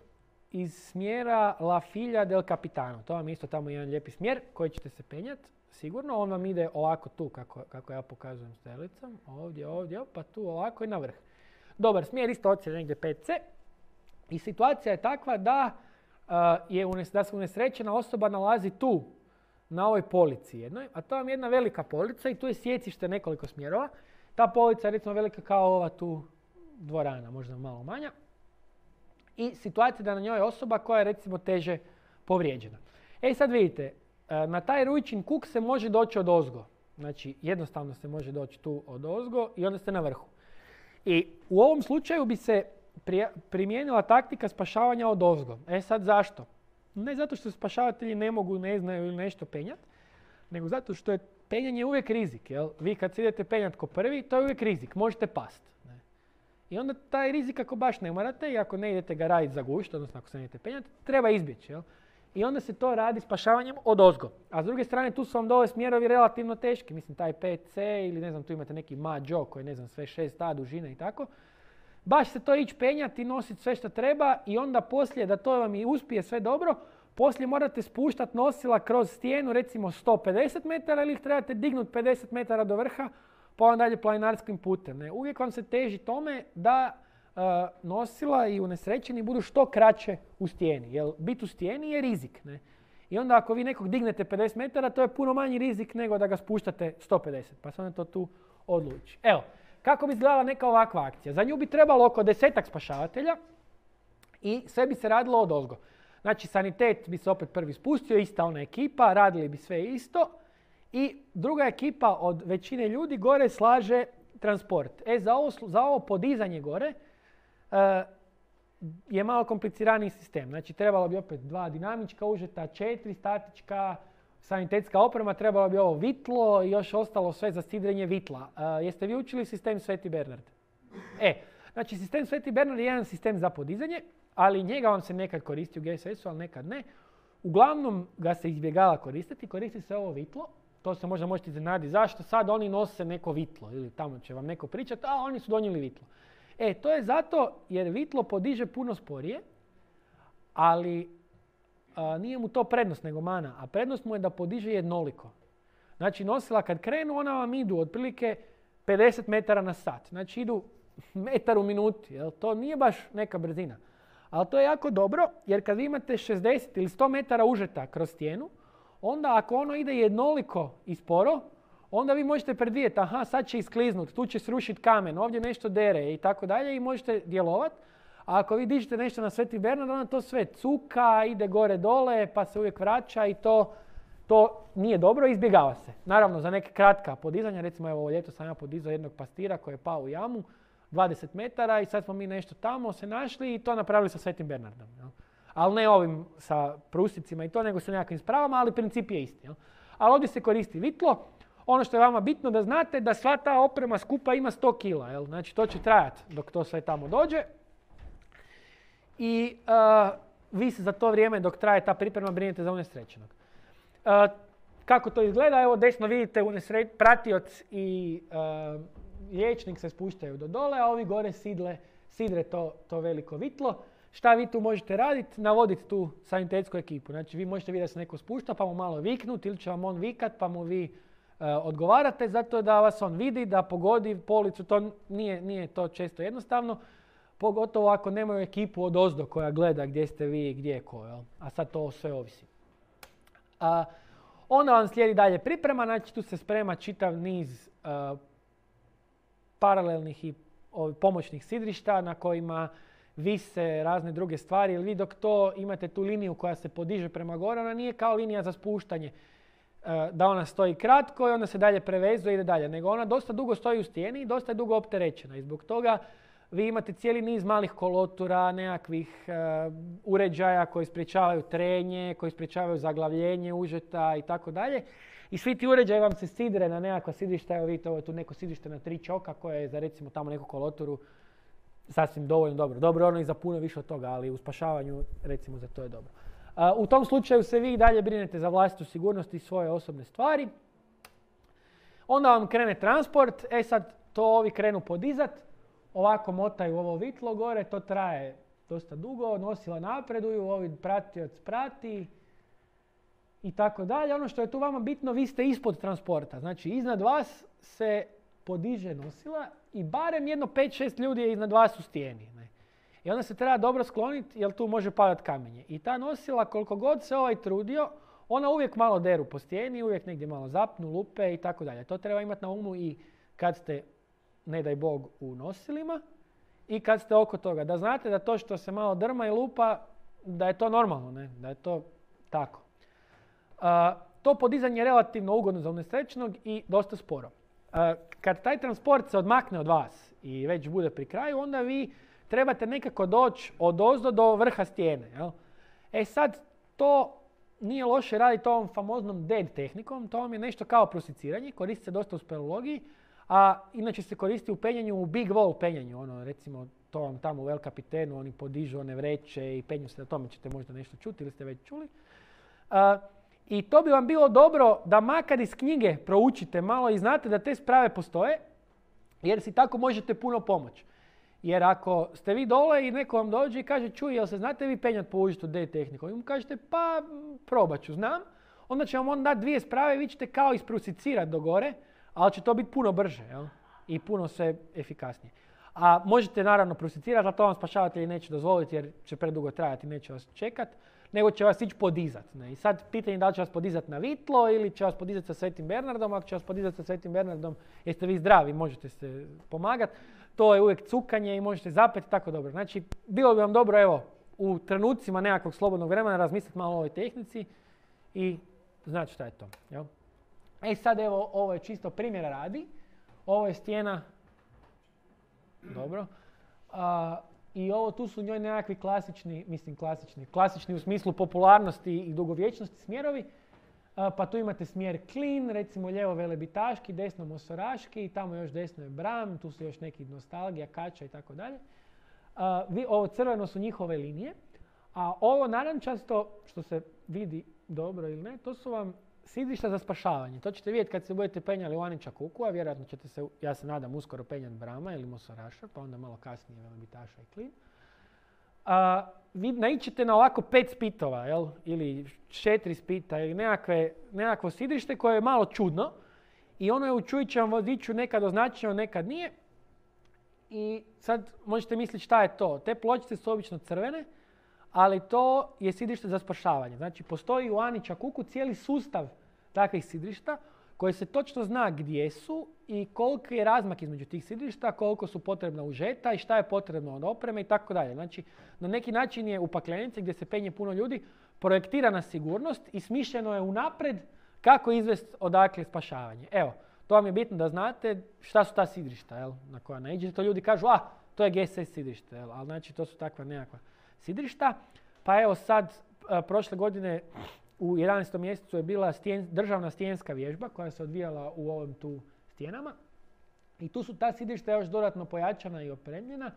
iz smjera La Figlia del Capitano. To vam je isto tamo jedan lijepi smjer koji ćete se penjati, sigurno. On vam ide ovako tu, kako ja pokazujem strelicom. Ovdje, pa tu ovako i na vrh. Dobar smjer, isto ocjena negdje 5C. I situacija je takva da se unesrećena osoba nalazi tu, na ovoj polici jednoj, a to vam je jedna velika polica i tu je sjecište nekoliko smjerova. Ta polica je recimo velika kao ova tu dvorana, možda malo manja. I situacija da na njoj je osoba koja je recimo teže povrijeđena. Sad vidite, na taj Ruičin kuk se može doći odozgo. Znači jednostavno se može doći tu odozgo i onda ste na vrhu. I u ovom slučaju bi se primijenila taktika spašavanja odozgo. Sad zašto? Ne zato što spašavatelji ne mogu, ne znaju ili nešto penjati, nego zato što je penjanje uvijek rizik. Jel? Vi kad se idete penjati ko prvi, to je uvijek rizik, možete past. Ne? I onda taj rizik ako baš ne morate i ako ne idete ga raditi za gušt, odnosno ako se ne idete penjati, treba izbjeći. Jel? I onda se to radi spašavanjem odozgo. A s druge strane tu su vam dole smjerovi relativno teški. Mislim taj 5C ili ne znam tu imate neki mađo koji ne znam sve 6A dužine i tako. Baš se to ići penjati, nositi sve što treba i onda poslije da to vam i uspije sve dobro, poslije morate spuštati nosila kroz stijenu recimo 150 metara ili ih trebate dignuti 50 metara do vrha pa onda dalje planinarskim putem. Ne? Uvijek vam se teži tome da nosila i unesrećeni budu što kraće u stijeni. Jer biti u stijeni je rizik. Ne? I onda ako vi nekog dignete 50 metara, to je puno manji rizik nego da ga spuštate 150. Pa se onda to tu odluči. Evo, kako bi izgledala neka ovakva akcija? Za nju bi trebalo oko 10-ak spašavatelja i sve bi se radilo odozgo. Znači, sanitet bi se opet prvi spustio, ista ona ekipa, radili bi sve isto. I druga ekipa od većine ljudi gore slaže transport. Za ovo podizanje gore je malo kompliciraniji sistem. Znači, trebalo bi opet 2 dinamička užeta, 4 statička, sanitetska oprema, trebalo bi ovo vitlo i još ostalo sve za sidrenje vitla. Jeste vi učili sistem Sveti Bernard? Znači, sistem Sveti Bernard je jedan sistem za podizanje, ali njega vam se nekad koristi u GSS-u, ali nekad ne. Uglavnom ga se izbjegava koristiti, koristi se ovo vitlo. To se možda možete iznenaditi. Zašto sad oni nose neko vitlo? Ili tamo će vam neko pričati, a oni su donijeli vitlo. To je zato jer vitlo podiže puno sporije, ali nije mu to prednost nego mana. A prednost mu je da podiže jednoliko. Znači nosila kad krenu, ona vam idu otprilike 50 metara na sat. Znači idu metar u minuti. Jel? To nije baš neka brzina. Ali to je jako dobro jer kad vi imate 60 ili 100 metara užeta kroz stijenu, onda ako ono ide jednoliko i sporo, onda vi možete predvidjeti, sad će iskliznuti, tu će srušiti kamen, ovdje nešto dere i tako dalje i možete djelovati. A ako vi dižete nešto na Sveti Bernard, onda to sve cuka, ide gore dole, pa se uvijek vraća i to nije dobro, izbjegava se. Naravno, za neke kratka podizanja, recimo evo ovo ljeto sam ja podizao jednog pastira koji je pao u jamu, 20 metara i sad smo mi nešto tamo se našli i to napravili sa Svetim Bernardom. Jel? Ali ne ovim sa prusicima i to, nego sa nekakvim spravama, ali princip je isti. Jel? Ali ovdje se koristi vitlo. Ono što je vama bitno da znate da sva ta oprema skupa ima 100 kila. Jel? Znači to će trajati dok to sve tamo dođe. I vi se za to vrijeme dok traje ta priprema brinete za unesrećenog. Kako to izgleda? Evo desno vidite pratioc i liječnik se spuštaju do dole, a ovi gore sidre to veliko vitlo. Šta vi tu možete raditi? Navoditi tu sanitetsku ekipu. Znači vi možete vidjeti da se neko spušta pa mu malo viknuti ili će vam on vikat pa mu vi odgovarate zato da vas on vidi, da pogodi policu. To nije to često jednostavno. Pogotovo ako nemaju ekipu od ozdo koja gleda gdje ste vi i gdje je ko. Jel? A sad to sve ovisi. Onda vam slijedi dalje priprema. Znači tu se sprema čitav niz paralelnih i pomoćnih sidrišta na kojima vise razne druge stvari. Jer vi dok to imate tu liniju koja se podiže prema gore, ona nije kao linija za spuštanje. Da ona stoji kratko i onda se dalje prevezuje i ide dalje. Nego ona dosta dugo stoji u stijeni i dosta je dugo opterećena. I zbog toga vi imate cijeli niz malih kolotura, nekakvih uređaja koji sprječavaju trenje, koji sprječavaju zaglavljenje užeta i tako dalje. I svi ti uređaji vam se sidre na nekakva sidrišta. Evo vidite, ovo je tu neko sidrište na 3 čoka koje je za recimo tamo neku koloturu sasvim dovoljno dobro. Dobro, ono i za puno više od toga, ali u spašavanju recimo za to je dobro. U tom slučaju se vi dalje brinete za vlastitu sigurnost i svoje osobne stvari. Onda vam krene transport, sad to ovi krenu podizat, ovako motaju ovo vitlo gore, to traje dosta dugo, nosila napreduju, ovi pratioc prati i tako dalje. Ono što je tu vama bitno, vi ste ispod transporta, znači iznad vas se podiže nosila i barem jedno 5-6 ljudi je iznad vas u stijeni. Ne? I onda se treba dobro skloniti jer tu može padat kamenje. I ta nosila, koliko god se ovaj trudio, ona uvijek malo deru po stijeni, uvijek negdje malo zapnu, lupe i tako dalje. To treba imati na umu i kad ste, ne daj Bog, u nosilima i kad ste oko toga. Da znate da to što se malo drma i lupa, da je to normalno, ne? Da je to tako. To podizanje je relativno ugodno za unesrećenog i dosta sporo. Kad taj transport se odmakne od vas i već bude pri kraju, onda vi trebate nekako doći odozdo do vrha stijene. Jel? Sad, to nije loše raditi ovom famoznom DED tehnikom, to vam je nešto kao prosiciranje, koristi se dosta u speleologiji, a inače se koristi u penjanju, u big wall penjanju, ono, recimo to vam tamo u El Capitanu, oni podižu one vreće i penju se, na tome ćete možda nešto čuti ili ste već čuli. I to bi vam bilo dobro da makar iz knjige proučite malo i znate da te sprave postoje, jer si tako možete puno pomoći. Jer ako ste vi dole i neko vam dođe i kaže čuj, jel se znate vi penjati po užetu D tehnikom? I mu kažete pa probat ću, znam. Onda će vam on dati 2 sprave i vi ćete kao isprusicirati do gore, ali će to biti puno brže, jel? I puno sve efikasnije. A možete naravno prusicirati, ali to vam spašavatelji neće dozvoliti jer će predugo trajati, neće vas čekati, nego će vas ići podizati. I sad pitanje da li će vas podizati na vitlo ili će vas podizati sa Svetim Bernardom. Ako će vas podizati sa Svetim Bernardom, jeste vi zdravi, možete se pomagati. To je uvijek cukanje i možete zapeti tako dobro. Znači, bilo bi vam dobro, evo, u trenucima nekakvog slobodnog vremena razmisliti malo o ovoj tehnici i znači šta je to. Jel? Sad evo, ovo je čisto primjera radi. Ovo je stijena. Dobro. I ovo tu su njoj nekakvi klasični u smislu popularnosti i dugovječnosti smjerovi. Pa tu imate smjer Klin, recimo lijevo velebitaški, desno mosoraški, tamo još desno je Bram, tu su još neki nostalgija, kača i tako dalje. Ovo crveno su njihove linije, a ovo narančasto, što se vidi dobro ili ne, to su vam sidrišta za spašavanje. To ćete vidjeti kad se budete penjali u Anića Kuku, a vjerojatno ćete se, ja se nadam, uskoro penjati Brama ili mosoraša, pa onda malo kasnije velebitaša i Klin. Vi naićete na ovako 5 spitova, jel? Ili 4 spita ili nekakvo sidrište koje je malo čudno i ono je u čujućem vodiču nekad označeno, nekad nije. I sad možete misliti šta je to. Te pločice su obično crvene, ali to je sidrište za spašavanje. Znači postoji u Anića Kuku cijeli sustav takvih sidrišta koji se točno zna gdje su i koliki je razmak između tih sidrišta, koliko su potrebna užeta i šta je potrebno od opreme i tako dalje. Znači, na neki način je u paklenici gdje se penje puno ljudi projektirana sigurnost i smišljeno je unaprijed kako izvesti odakle spašavanje. Evo, to vam je bitno da znate šta su ta sidrišta, jel, na koja naiđete. To ljudi kažu, to je GSS sidrište, jel, ali znači to su takva nekakva sidrišta. Pa evo sad, prošle godine u 11. mjesecu je bila državna stijenska vježba koja se odvijala u ovim tu stijenama. I tu su ta sidrišta još dodatno pojačana i opremljena.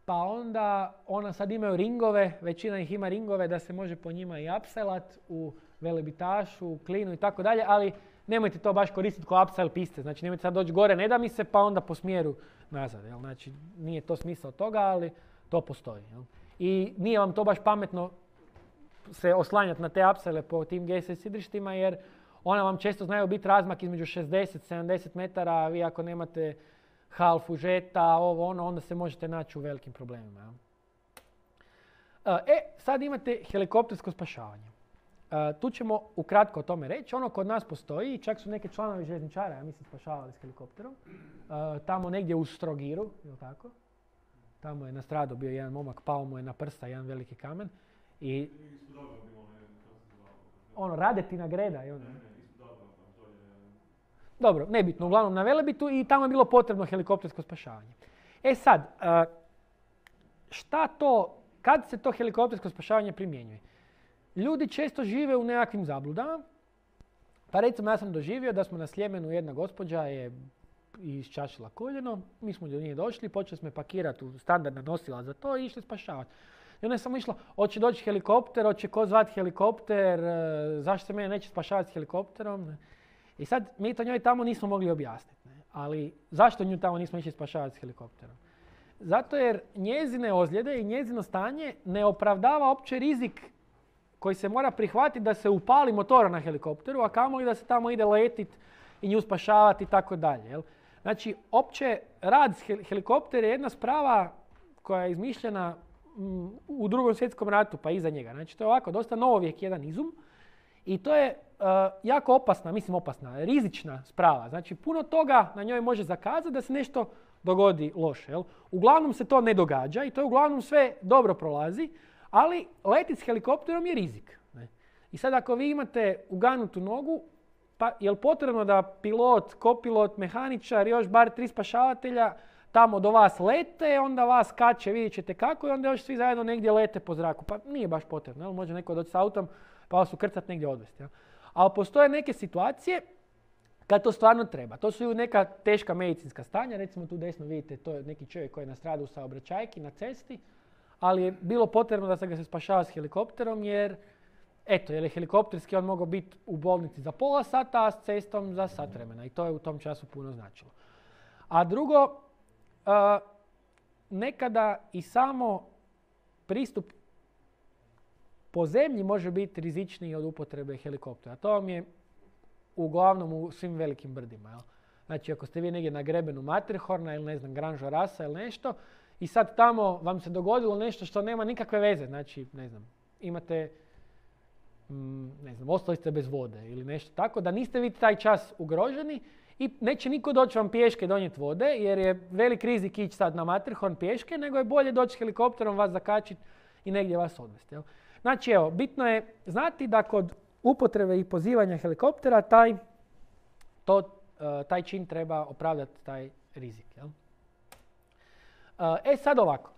Pa onda ona sad imaju ringove, većina ih ima ringove da se može po njima i apselat u velebitašu, u Klinu i tako dalje, ali nemojte to baš koristiti kao upsell piste. Znači nemojte sad doći gore, ne da mi se, pa onda po smjeru nazad. Jel? Znači nije to smisao toga, ali to postoji. Jel? I nije vam to baš pametno se oslanjati na te apsele po tim GSS sidrištima jer ona vam često znaju biti razmak između 60-70 metara, a vi ako nemate half užeta, onda se možete naći u velikim problemima. Sad imate helikoptersko spašavanje. Tu ćemo ukratko o tome reći. Ono kod nas postoji, čak su neke članovi željezničara, ja mislim, spašavali s helikopterom. Tamo negdje u Strogiru, ili tako? Tamo je nastradao bio jedan momak, pao mu je na prsta jedan veliki kamen. I Radetina Greda i ono. Dobro, nebitno, uglavnom na Velebitu i tamo je bilo potrebno helikoptersko spašavanje. E sad, kad se to helikoptersko spašavanje primjenjuje? Ljudi često žive u nekakvim zabludama. Pa recimo ja sam doživio da smo na Sljemenu, jedna gospođa je iščašila koljeno, mi smo do nje došli, počeli smo je pakirati u standardna nosila za to i išli spašavati. I onda je samo išla, hoće doći helikopter, hoće ko zvati helikopter, zašto se mene neće spašavati s helikopterom. I sad mi to njoj tamo nismo mogli objasniti. Ali zašto nju tamo nismo išli spašavati s helikopterom? Zato jer njezine ozljede i njezino stanje ne opravdava opće rizik koji se mora prihvatiti da se upali motora na helikopteru, a kamoli da se tamo ide letit i nju spašavati i tako dalje. Znači, opće rad s helikopter je jedna sprava koja je izmišljena u Drugom svjetskom ratu pa iza njega. Znači, to je ovako dosta novovijek jedan izum i to je jako opasna, rizična sprava. Znači, puno toga na njoj može zakazati da se nešto dogodi loše. Uglavnom se to ne događa i to je uglavnom sve dobro prolazi, ali letiti s helikopterom je rizik. I sad ako vi imate uganutu nogu, pa je li potrebno da pilot, kopilot, mehaničar, još bar 3 spašavatelja tamo do vas lete, onda vas kače, vidjet ćete kako i onda još svi zajedno negdje lete po zraku. Pa nije baš potrebno, može neko doći s autom pa vas ukrcat negdje odvesti. Ali postoje neke situacije kad to stvarno treba. To su neka teška medicinska stanja, recimo tu desno vidite, to je neki čovjek koji je nastradao u saobraćajki na cesti, ali je bilo potrebno da se ga se spašava s helikopterom jer je helikopterski on mogao biti u bolnici za pola sata, a s cestom za sat vremena. I to je u tom času puno značilo. A drugo, nekada i samo pristup po zemlji može biti rizičniji od upotrebe helikoptera. To vam je uglavnom u svim velikim brdima. Jel? Znači, ako ste vi negdje na grebenu Matterhorna ili ne znam, Gran Jorasa ili nešto i sad tamo vam se dogodilo nešto što nema nikakve veze. Znači, ne znam, imate ostali ste bez vode ili nešto tako, da niste vi taj čas ugroženi i neće niko doći vam pješke donijeti vode jer je velik rizik ići sad na Matterhorn pješke, nego je bolje doći helikopterom, vas zakačiti i negdje vas odvesti. Jel? Znači evo, bitno je znati da kod upotrebe i pozivanja helikoptera taj čin treba opravdati taj rizik. Jel? Sad ovako,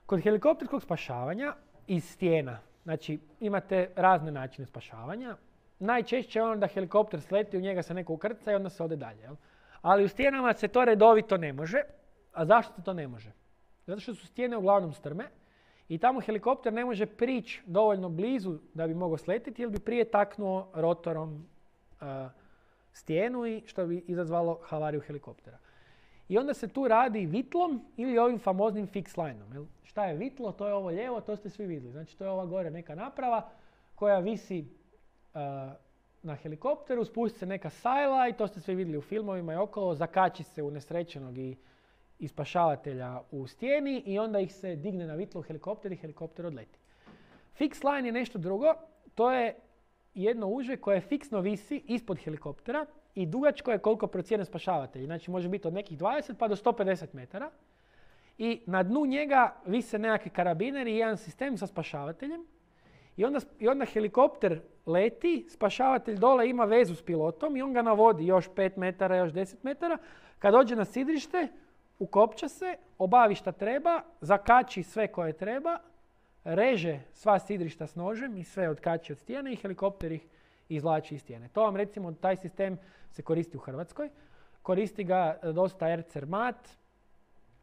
kod helikopterskog spašavanja iz stijena, znači imate razne načine spašavanja. Najčešće je ono da helikopter sleti, u njega se neko ukrca i onda se ode dalje. Jel? Ali u stijenama se to redovito ne može. A zašto se to ne može? Zato što su stijene uglavnom strme i tamo helikopter ne može prići dovoljno blizu da bi mogao sletiti ili bi prije taknuo rotorom stijenu i što bi izazvalo havariju helikoptera. I onda se tu radi vitlom ili ovim famoznim fix lineom. Jel? Šta je vitlo? To je ovo lijevo, to ste svi vidjeli. Znači to je ova gore neka naprava koja visi na helikopteru, spusti se neka sajla i to ste svi vidjeli u filmovima i okolo, zakači se u nesrećenog i spašavatelja u stijeni i onda ih se digne na vitlo u helikopter i helikopter odleti. Fix line je nešto drugo, to je jedno uže koje fiksno visi ispod helikoptera i dugačko je koliko procijene spašavatelji. Znači može biti od nekih 20 pa do 150 metara. I na dnu njega vise nekakvi karabineri i jedan sistem sa spašavateljem. I onda helikopter leti, spašavatelj dole ima vezu s pilotom i on ga navodi još 5 metara, još 10 metara. Kad dođe na sidrište, ukopča se, obavi šta treba, zakači sve koje treba, reže sva sidrišta s nožem i sve odkači od stijene i helikopter ih izvlači iz stijene. To vam recimo, taj sistem se koristi u Hrvatskoj. Koristi ga dosta Air Cermat,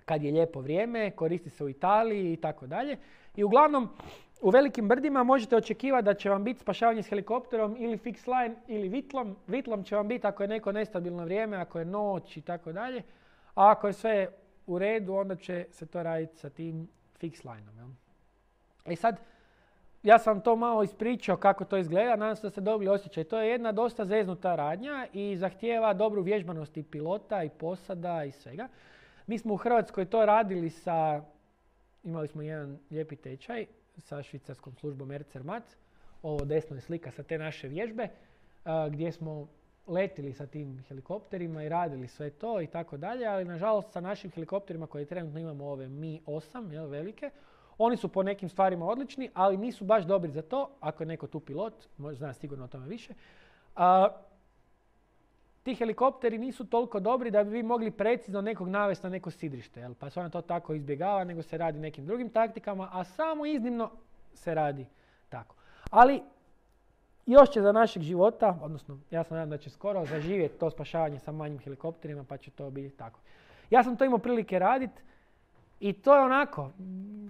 kad je lijepo vrijeme, koristi se u Italiji i tako dalje. I uglavnom, u velikim brdima možete očekivati da će vam biti spašavanje s helikopterom ili fix line ili vitlom. Vitlom će vam biti ako je neko nestabilno vrijeme, ako je noć i tako dalje. A ako je sve u redu, onda će se to raditi sa tim fix lineom. I sad, ja sam to malo ispričao kako to izgleda, nadam se da ste dobili osjećaj. To je jedna dosta zeznuta radnja i zahtijeva dobru vježbanost i pilota i posada i svega. Mi smo u Hrvatskoj to radili imali smo jedan lijepi tečaj sa švicarskom službom Air Cermat. Ovo desno je slika sa te naše vježbe gdje smo letili sa tim helikopterima i radili sve to i tako dalje, ali nažalost sa našim helikopterima koje trenutno imamo ove Mi-8, velike, oni su po nekim stvarima odlični, ali nisu baš dobri za to, ako je neko tu pilot, zna sigurno o tome više. ti helikopteri nisu toliko dobri da bi vi mogli precizno nekog navesti na neko sidrište, jel? Pa se ona to tako izbjegava, nego se radi nekim drugim taktikama, a samo iznimno se radi tako. Ali još će za našeg života, odnosno ja se nadam da će skoro zaživjeti to spašavanje sa manjim helikopterima, pa će to biti tako. Ja sam to imao prilike raditi i to je onako,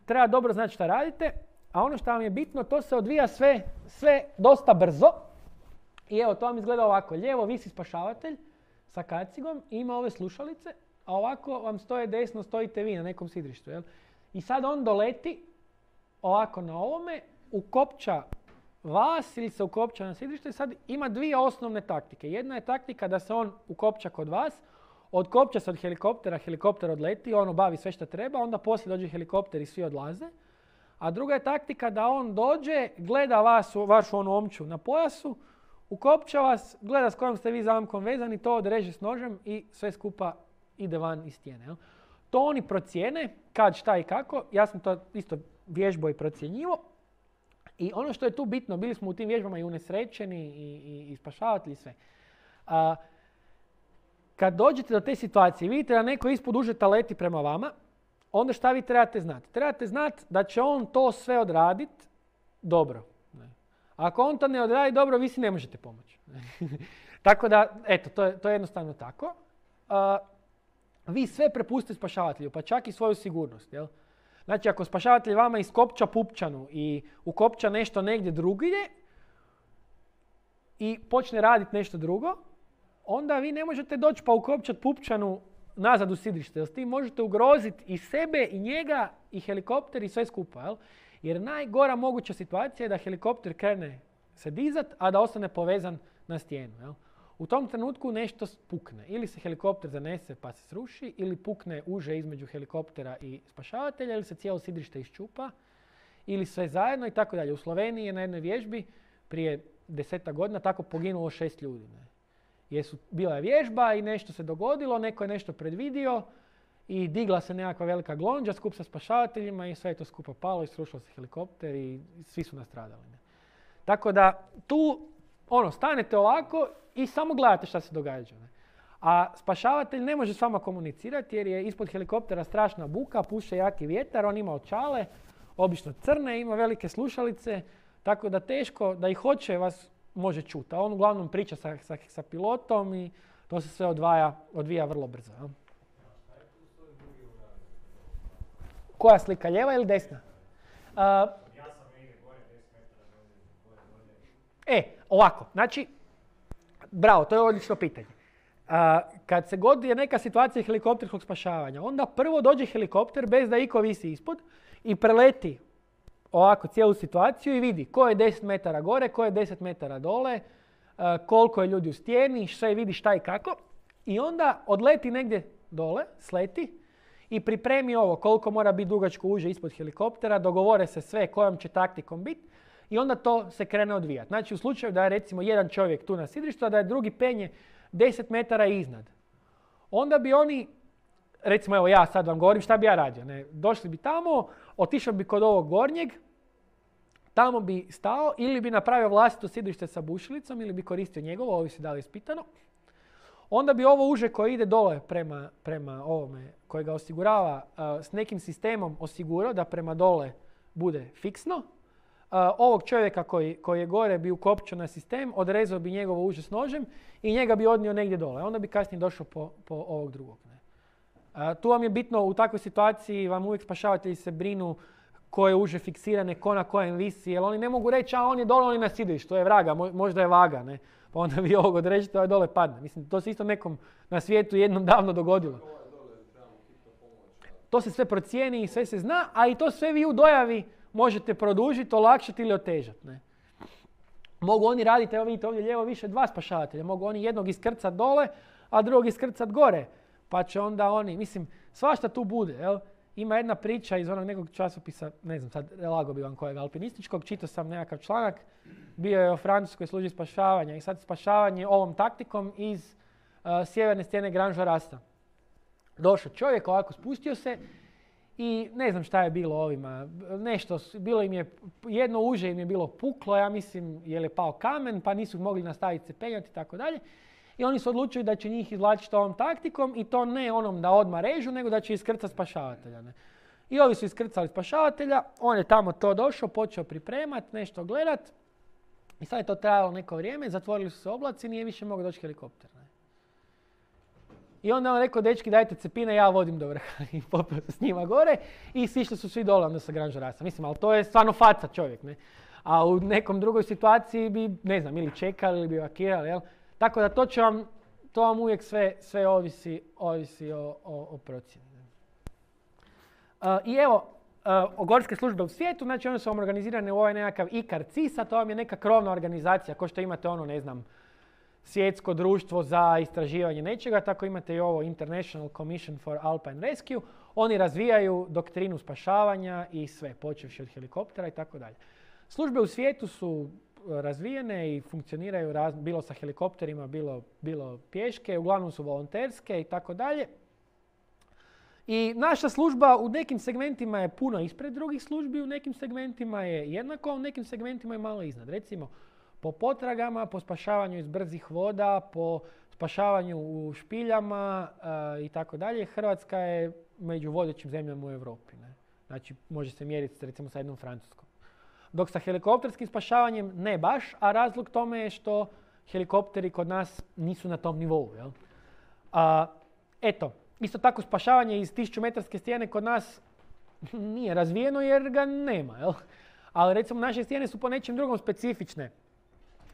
treba dobro znati šta radite, a ono što vam je bitno, to se odvija sve dosta brzo. I evo, to vam izgleda ovako. Lijevo visi spašavatelj sa kacigom i ima ove slušalice, a ovako vam stoje desno, stojite vi na nekom sidrištu. Jel? I sad on doleti ovako na ovome, ukopča vas ili se ukopča na sidrište i sad ima dvije osnovne taktike. Jedna je taktika da se on ukopča kod vas, otkopča se od helikoptera, helikopter odleti, on obavi sve što treba, onda poslije dođe helikopter i svi odlaze. A druga je taktika da on dođe, gleda vas, vašu onu omču na pojasu, ukopča vas, gleda s kojom ste vi zamkom vezani, to odreže s nožem i sve skupa ide van iz stijene. Jel? To oni procijene, kad, šta i kako. Ja sam to isto vježbao i procjenjivo. I ono što je tu bitno, bili smo u tim vježbama i unesrećeni i spašavatelji i sve. Kad dođete do te situacije i vidite da neko ispod užeta leti prema vama, onda šta vi trebate znati? Trebate znati da će on to sve odraditi dobro. Ako on to ne odradi dobro, vi si ne možete pomoći. Tako da, eto, to je jednostavno tako. Vi sve prepustite spašavatelju, pa čak i svoju sigurnost. Jel? Znači, ako spašavatelj vama iskopča pupčanu i ukopča nešto negdje drugdje i počne raditi nešto drugo, onda vi ne možete doći pa ukopčati pupčanu nazad u sidrište. S tim možete ugroziti i sebe, i njega, i helikopter, i sve skupa. Jel? Jer najgora moguća situacija je da helikopter krene se dizat, a da ostane povezan na stijenu. Jel? U tom trenutku nešto pukne. Ili se helikopter zanese pa se sruši, ili pukne uže između helikoptera i spašavatelja, ili se cijelo sidrište iščupa, ili sve zajedno i tako dalje. U Sloveniji je na jednoj vježbi prije 10 godina tako poginulo 6 ljudi. Ne? Jer bila je vježba i nešto se dogodilo, neko je nešto predvidio i digla se nekakva velika glonđa skup sa spašavateljima i sve je to skupa palo i srušilo se helikopter i svi su nastradali. Ne? Tako da tu stanete ovako i samo gledate šta se događa. Ne? A spašavatelj ne može s vama komunicirati jer je ispod helikoptera strašna buka, puše jaki vjetar, on ima očale, obično crne, ima velike slušalice, tako da teško da i hoće vas može čuti. A on uglavnom priča sa pilotom i to se sve odvija vrlo brzo. Ja? Koja slika, lijeva ili desna? Ovako, znači, bravo, to je odlično pitanje. Kad se god je neka situacija helikopterskog spašavanja, onda prvo dođe helikopter bez da iko visi ispod i preleti ovako cijelu situaciju i vidi ko je 10 metara gore, ko je 10 metara dole, koliko je ljudi u stijeni, sve vidi šta i kako. I onda odleti negdje dole, sleti i pripremi ovo koliko mora biti dugačko uže ispod helikoptera, dogovore se sve kojom će taktikom biti i onda to se krene odvijati. Znači u slučaju da je recimo jedan čovjek tu na sidrištu, a da je drugi penje 10 metara iznad. Onda bi oni, recimo evo ja sad vam govorim šta bi ja radio. Ne? Došli bi tamo, otišao bi kod ovog gornjeg, tamo bi stao ili bi napravio vlastito sidrište sa bušilicom ili bi koristio njegovo, ovo se da li ispitano. Onda bi ovo uže koje ide dole prema ovome koje ga osigurava s nekim sistemom osigurao da prema dole bude fiksno. Ovog čovjeka koji je gore bi ukopčao na sistem, odrezao bi njegovo uže s nožem i njega bi odnio negdje dole. Onda bi kasnije došao po ovog drugog. Tu vam je bitno u takvoj situaciji, vam uvijek spašavatelji se brinu koje uže fiksirane, ko na kojem visi, jer oni ne mogu reći a on je dole, on je na sidrištu, to je vraga, možda je vaga, ne? Pa onda vi ovog odrežete, ovaj dole padne. Mislim, to se isto nekom na svijetu jednom davno dogodilo. To se sve procijeni i sve se zna, a i to sve vi u dojavi možete produžiti, olakšati ili otežati. Ne? Mogu oni raditi, evo vidite ovdje lijevo više 2 spašavatelja, mogu oni jednog iskrcat dole, a drugog iskrcat gore. Pa će onda oni, mislim, svašta tu bude. Jel? Ima jedna priča iz onog nekog časopisa, ne znam sad, lago bi vam kojeg, alpinističkog, čitao sam nekakav članak, bio je o francuskoj službi spašavanja i sad spašavanje ovom taktikom iz sjeverne stijene Grand Jarasta. Došao čovjek, ovako spustio se i ne znam šta je bilo ovima, nešto, bilo im je, jedno uže im je bilo puklo, ja mislim, jer je pao kamen, pa nisu mogli nastaviti se penjati i tako dalje. i oni su odlučili da će njih izvlačiti ovom taktikom i to ne onom da odmah režu, nego da će iskrcati spašavatelja. Ne. I ovi su iskrcali spašavatelja, on je tamo to došao, počeo pripremat, nešto gledat i sad je to trajalo neko vrijeme, zatvorili su se oblaci, nije više mogao doći helikopter. Ne. I onda on rekao, dečki dajte cepine, ja vodim do vrha i popeo se s njima gore i sišli su svi dole onda sa Grand Jorasa. Mislim, ali to je stvarno faca čovjek, ne. A u nekom drugoj situaciji bi, ne znam, ili čekali ili bi evakirali, jel? Tako da to vam uvijek sve ovisi o procjeni. I evo, gorske službe u svijetu, znači one su vam organizirane u ovaj nekakav ICAR-CISA, to vam je neka krovna organizacija, kao što imate ono, ne znam, svjetsko društvo za istraživanje nečega, tako imate i ovo International Commission for Alpine Rescue. Oni razvijaju doktrinu spašavanja i sve, počevši od helikoptera i tako dalje. Službe u svijetu su razvijene i funkcioniraju bilo sa helikopterima, bilo pješke, uglavnom su volonterske i tako dalje. I naša služba u nekim segmentima je puno ispred drugih službi, u nekim segmentima je jednako, a u nekim segmentima je malo iznad. Recimo, po potragama, po spašavanju iz brzih voda, po spašavanju u špiljama i tako dalje, Hrvatska je među vodećim zemljama u Europi. Ne? Znači, može se mjeriti recimo sa jednom Francuskom. Dok sa helikopterskim spašavanjem ne baš, a razlog tome je što helikopteri kod nas nisu na tom nivou. Jel? Eto, isto tako spašavanje iz 1000-metarske stijene kod nas nije razvijeno jer ga nema. Jel? Ali recimo naše stijene su po nečem drugom specifične.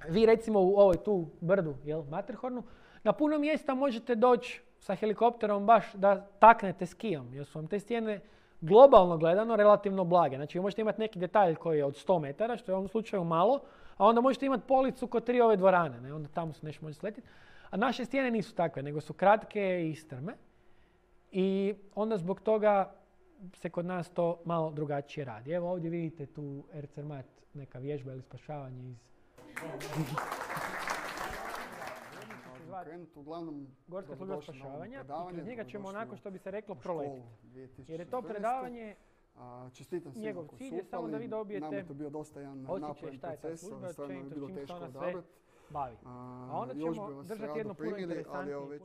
Vi recimo u ovoj tu brdu, jel, Matterhornu, na puno mjesta možete doći sa helikopterom baš da taknete skijom, jer su vam te stijene globalno gledano relativno blage. Znači vi možete imati neki detalj koji je od 100 metara, što je u ovom slučaju malo, a onda možete imati policu kod 3 ove dvorane, ne? Onda tamo se nešto može sletiti. A naše stijene nisu takve, nego su kratke i strme. I onda zbog toga se kod nas to malo drugačije radi. Evo ovdje vidite tu Ercermat, neka vježba ili spašavanje iz... Uglavnom, Gorska služba spašavanja i kroz njega ćemo onako što bi se reklo proletiti. Jer je to predavanje, njegov cilj je samo da vi dobijete osjećaj šta je ta služba, općenito s čim se ona sve bavi. A onda ćemo držati jedno puno interesantnije.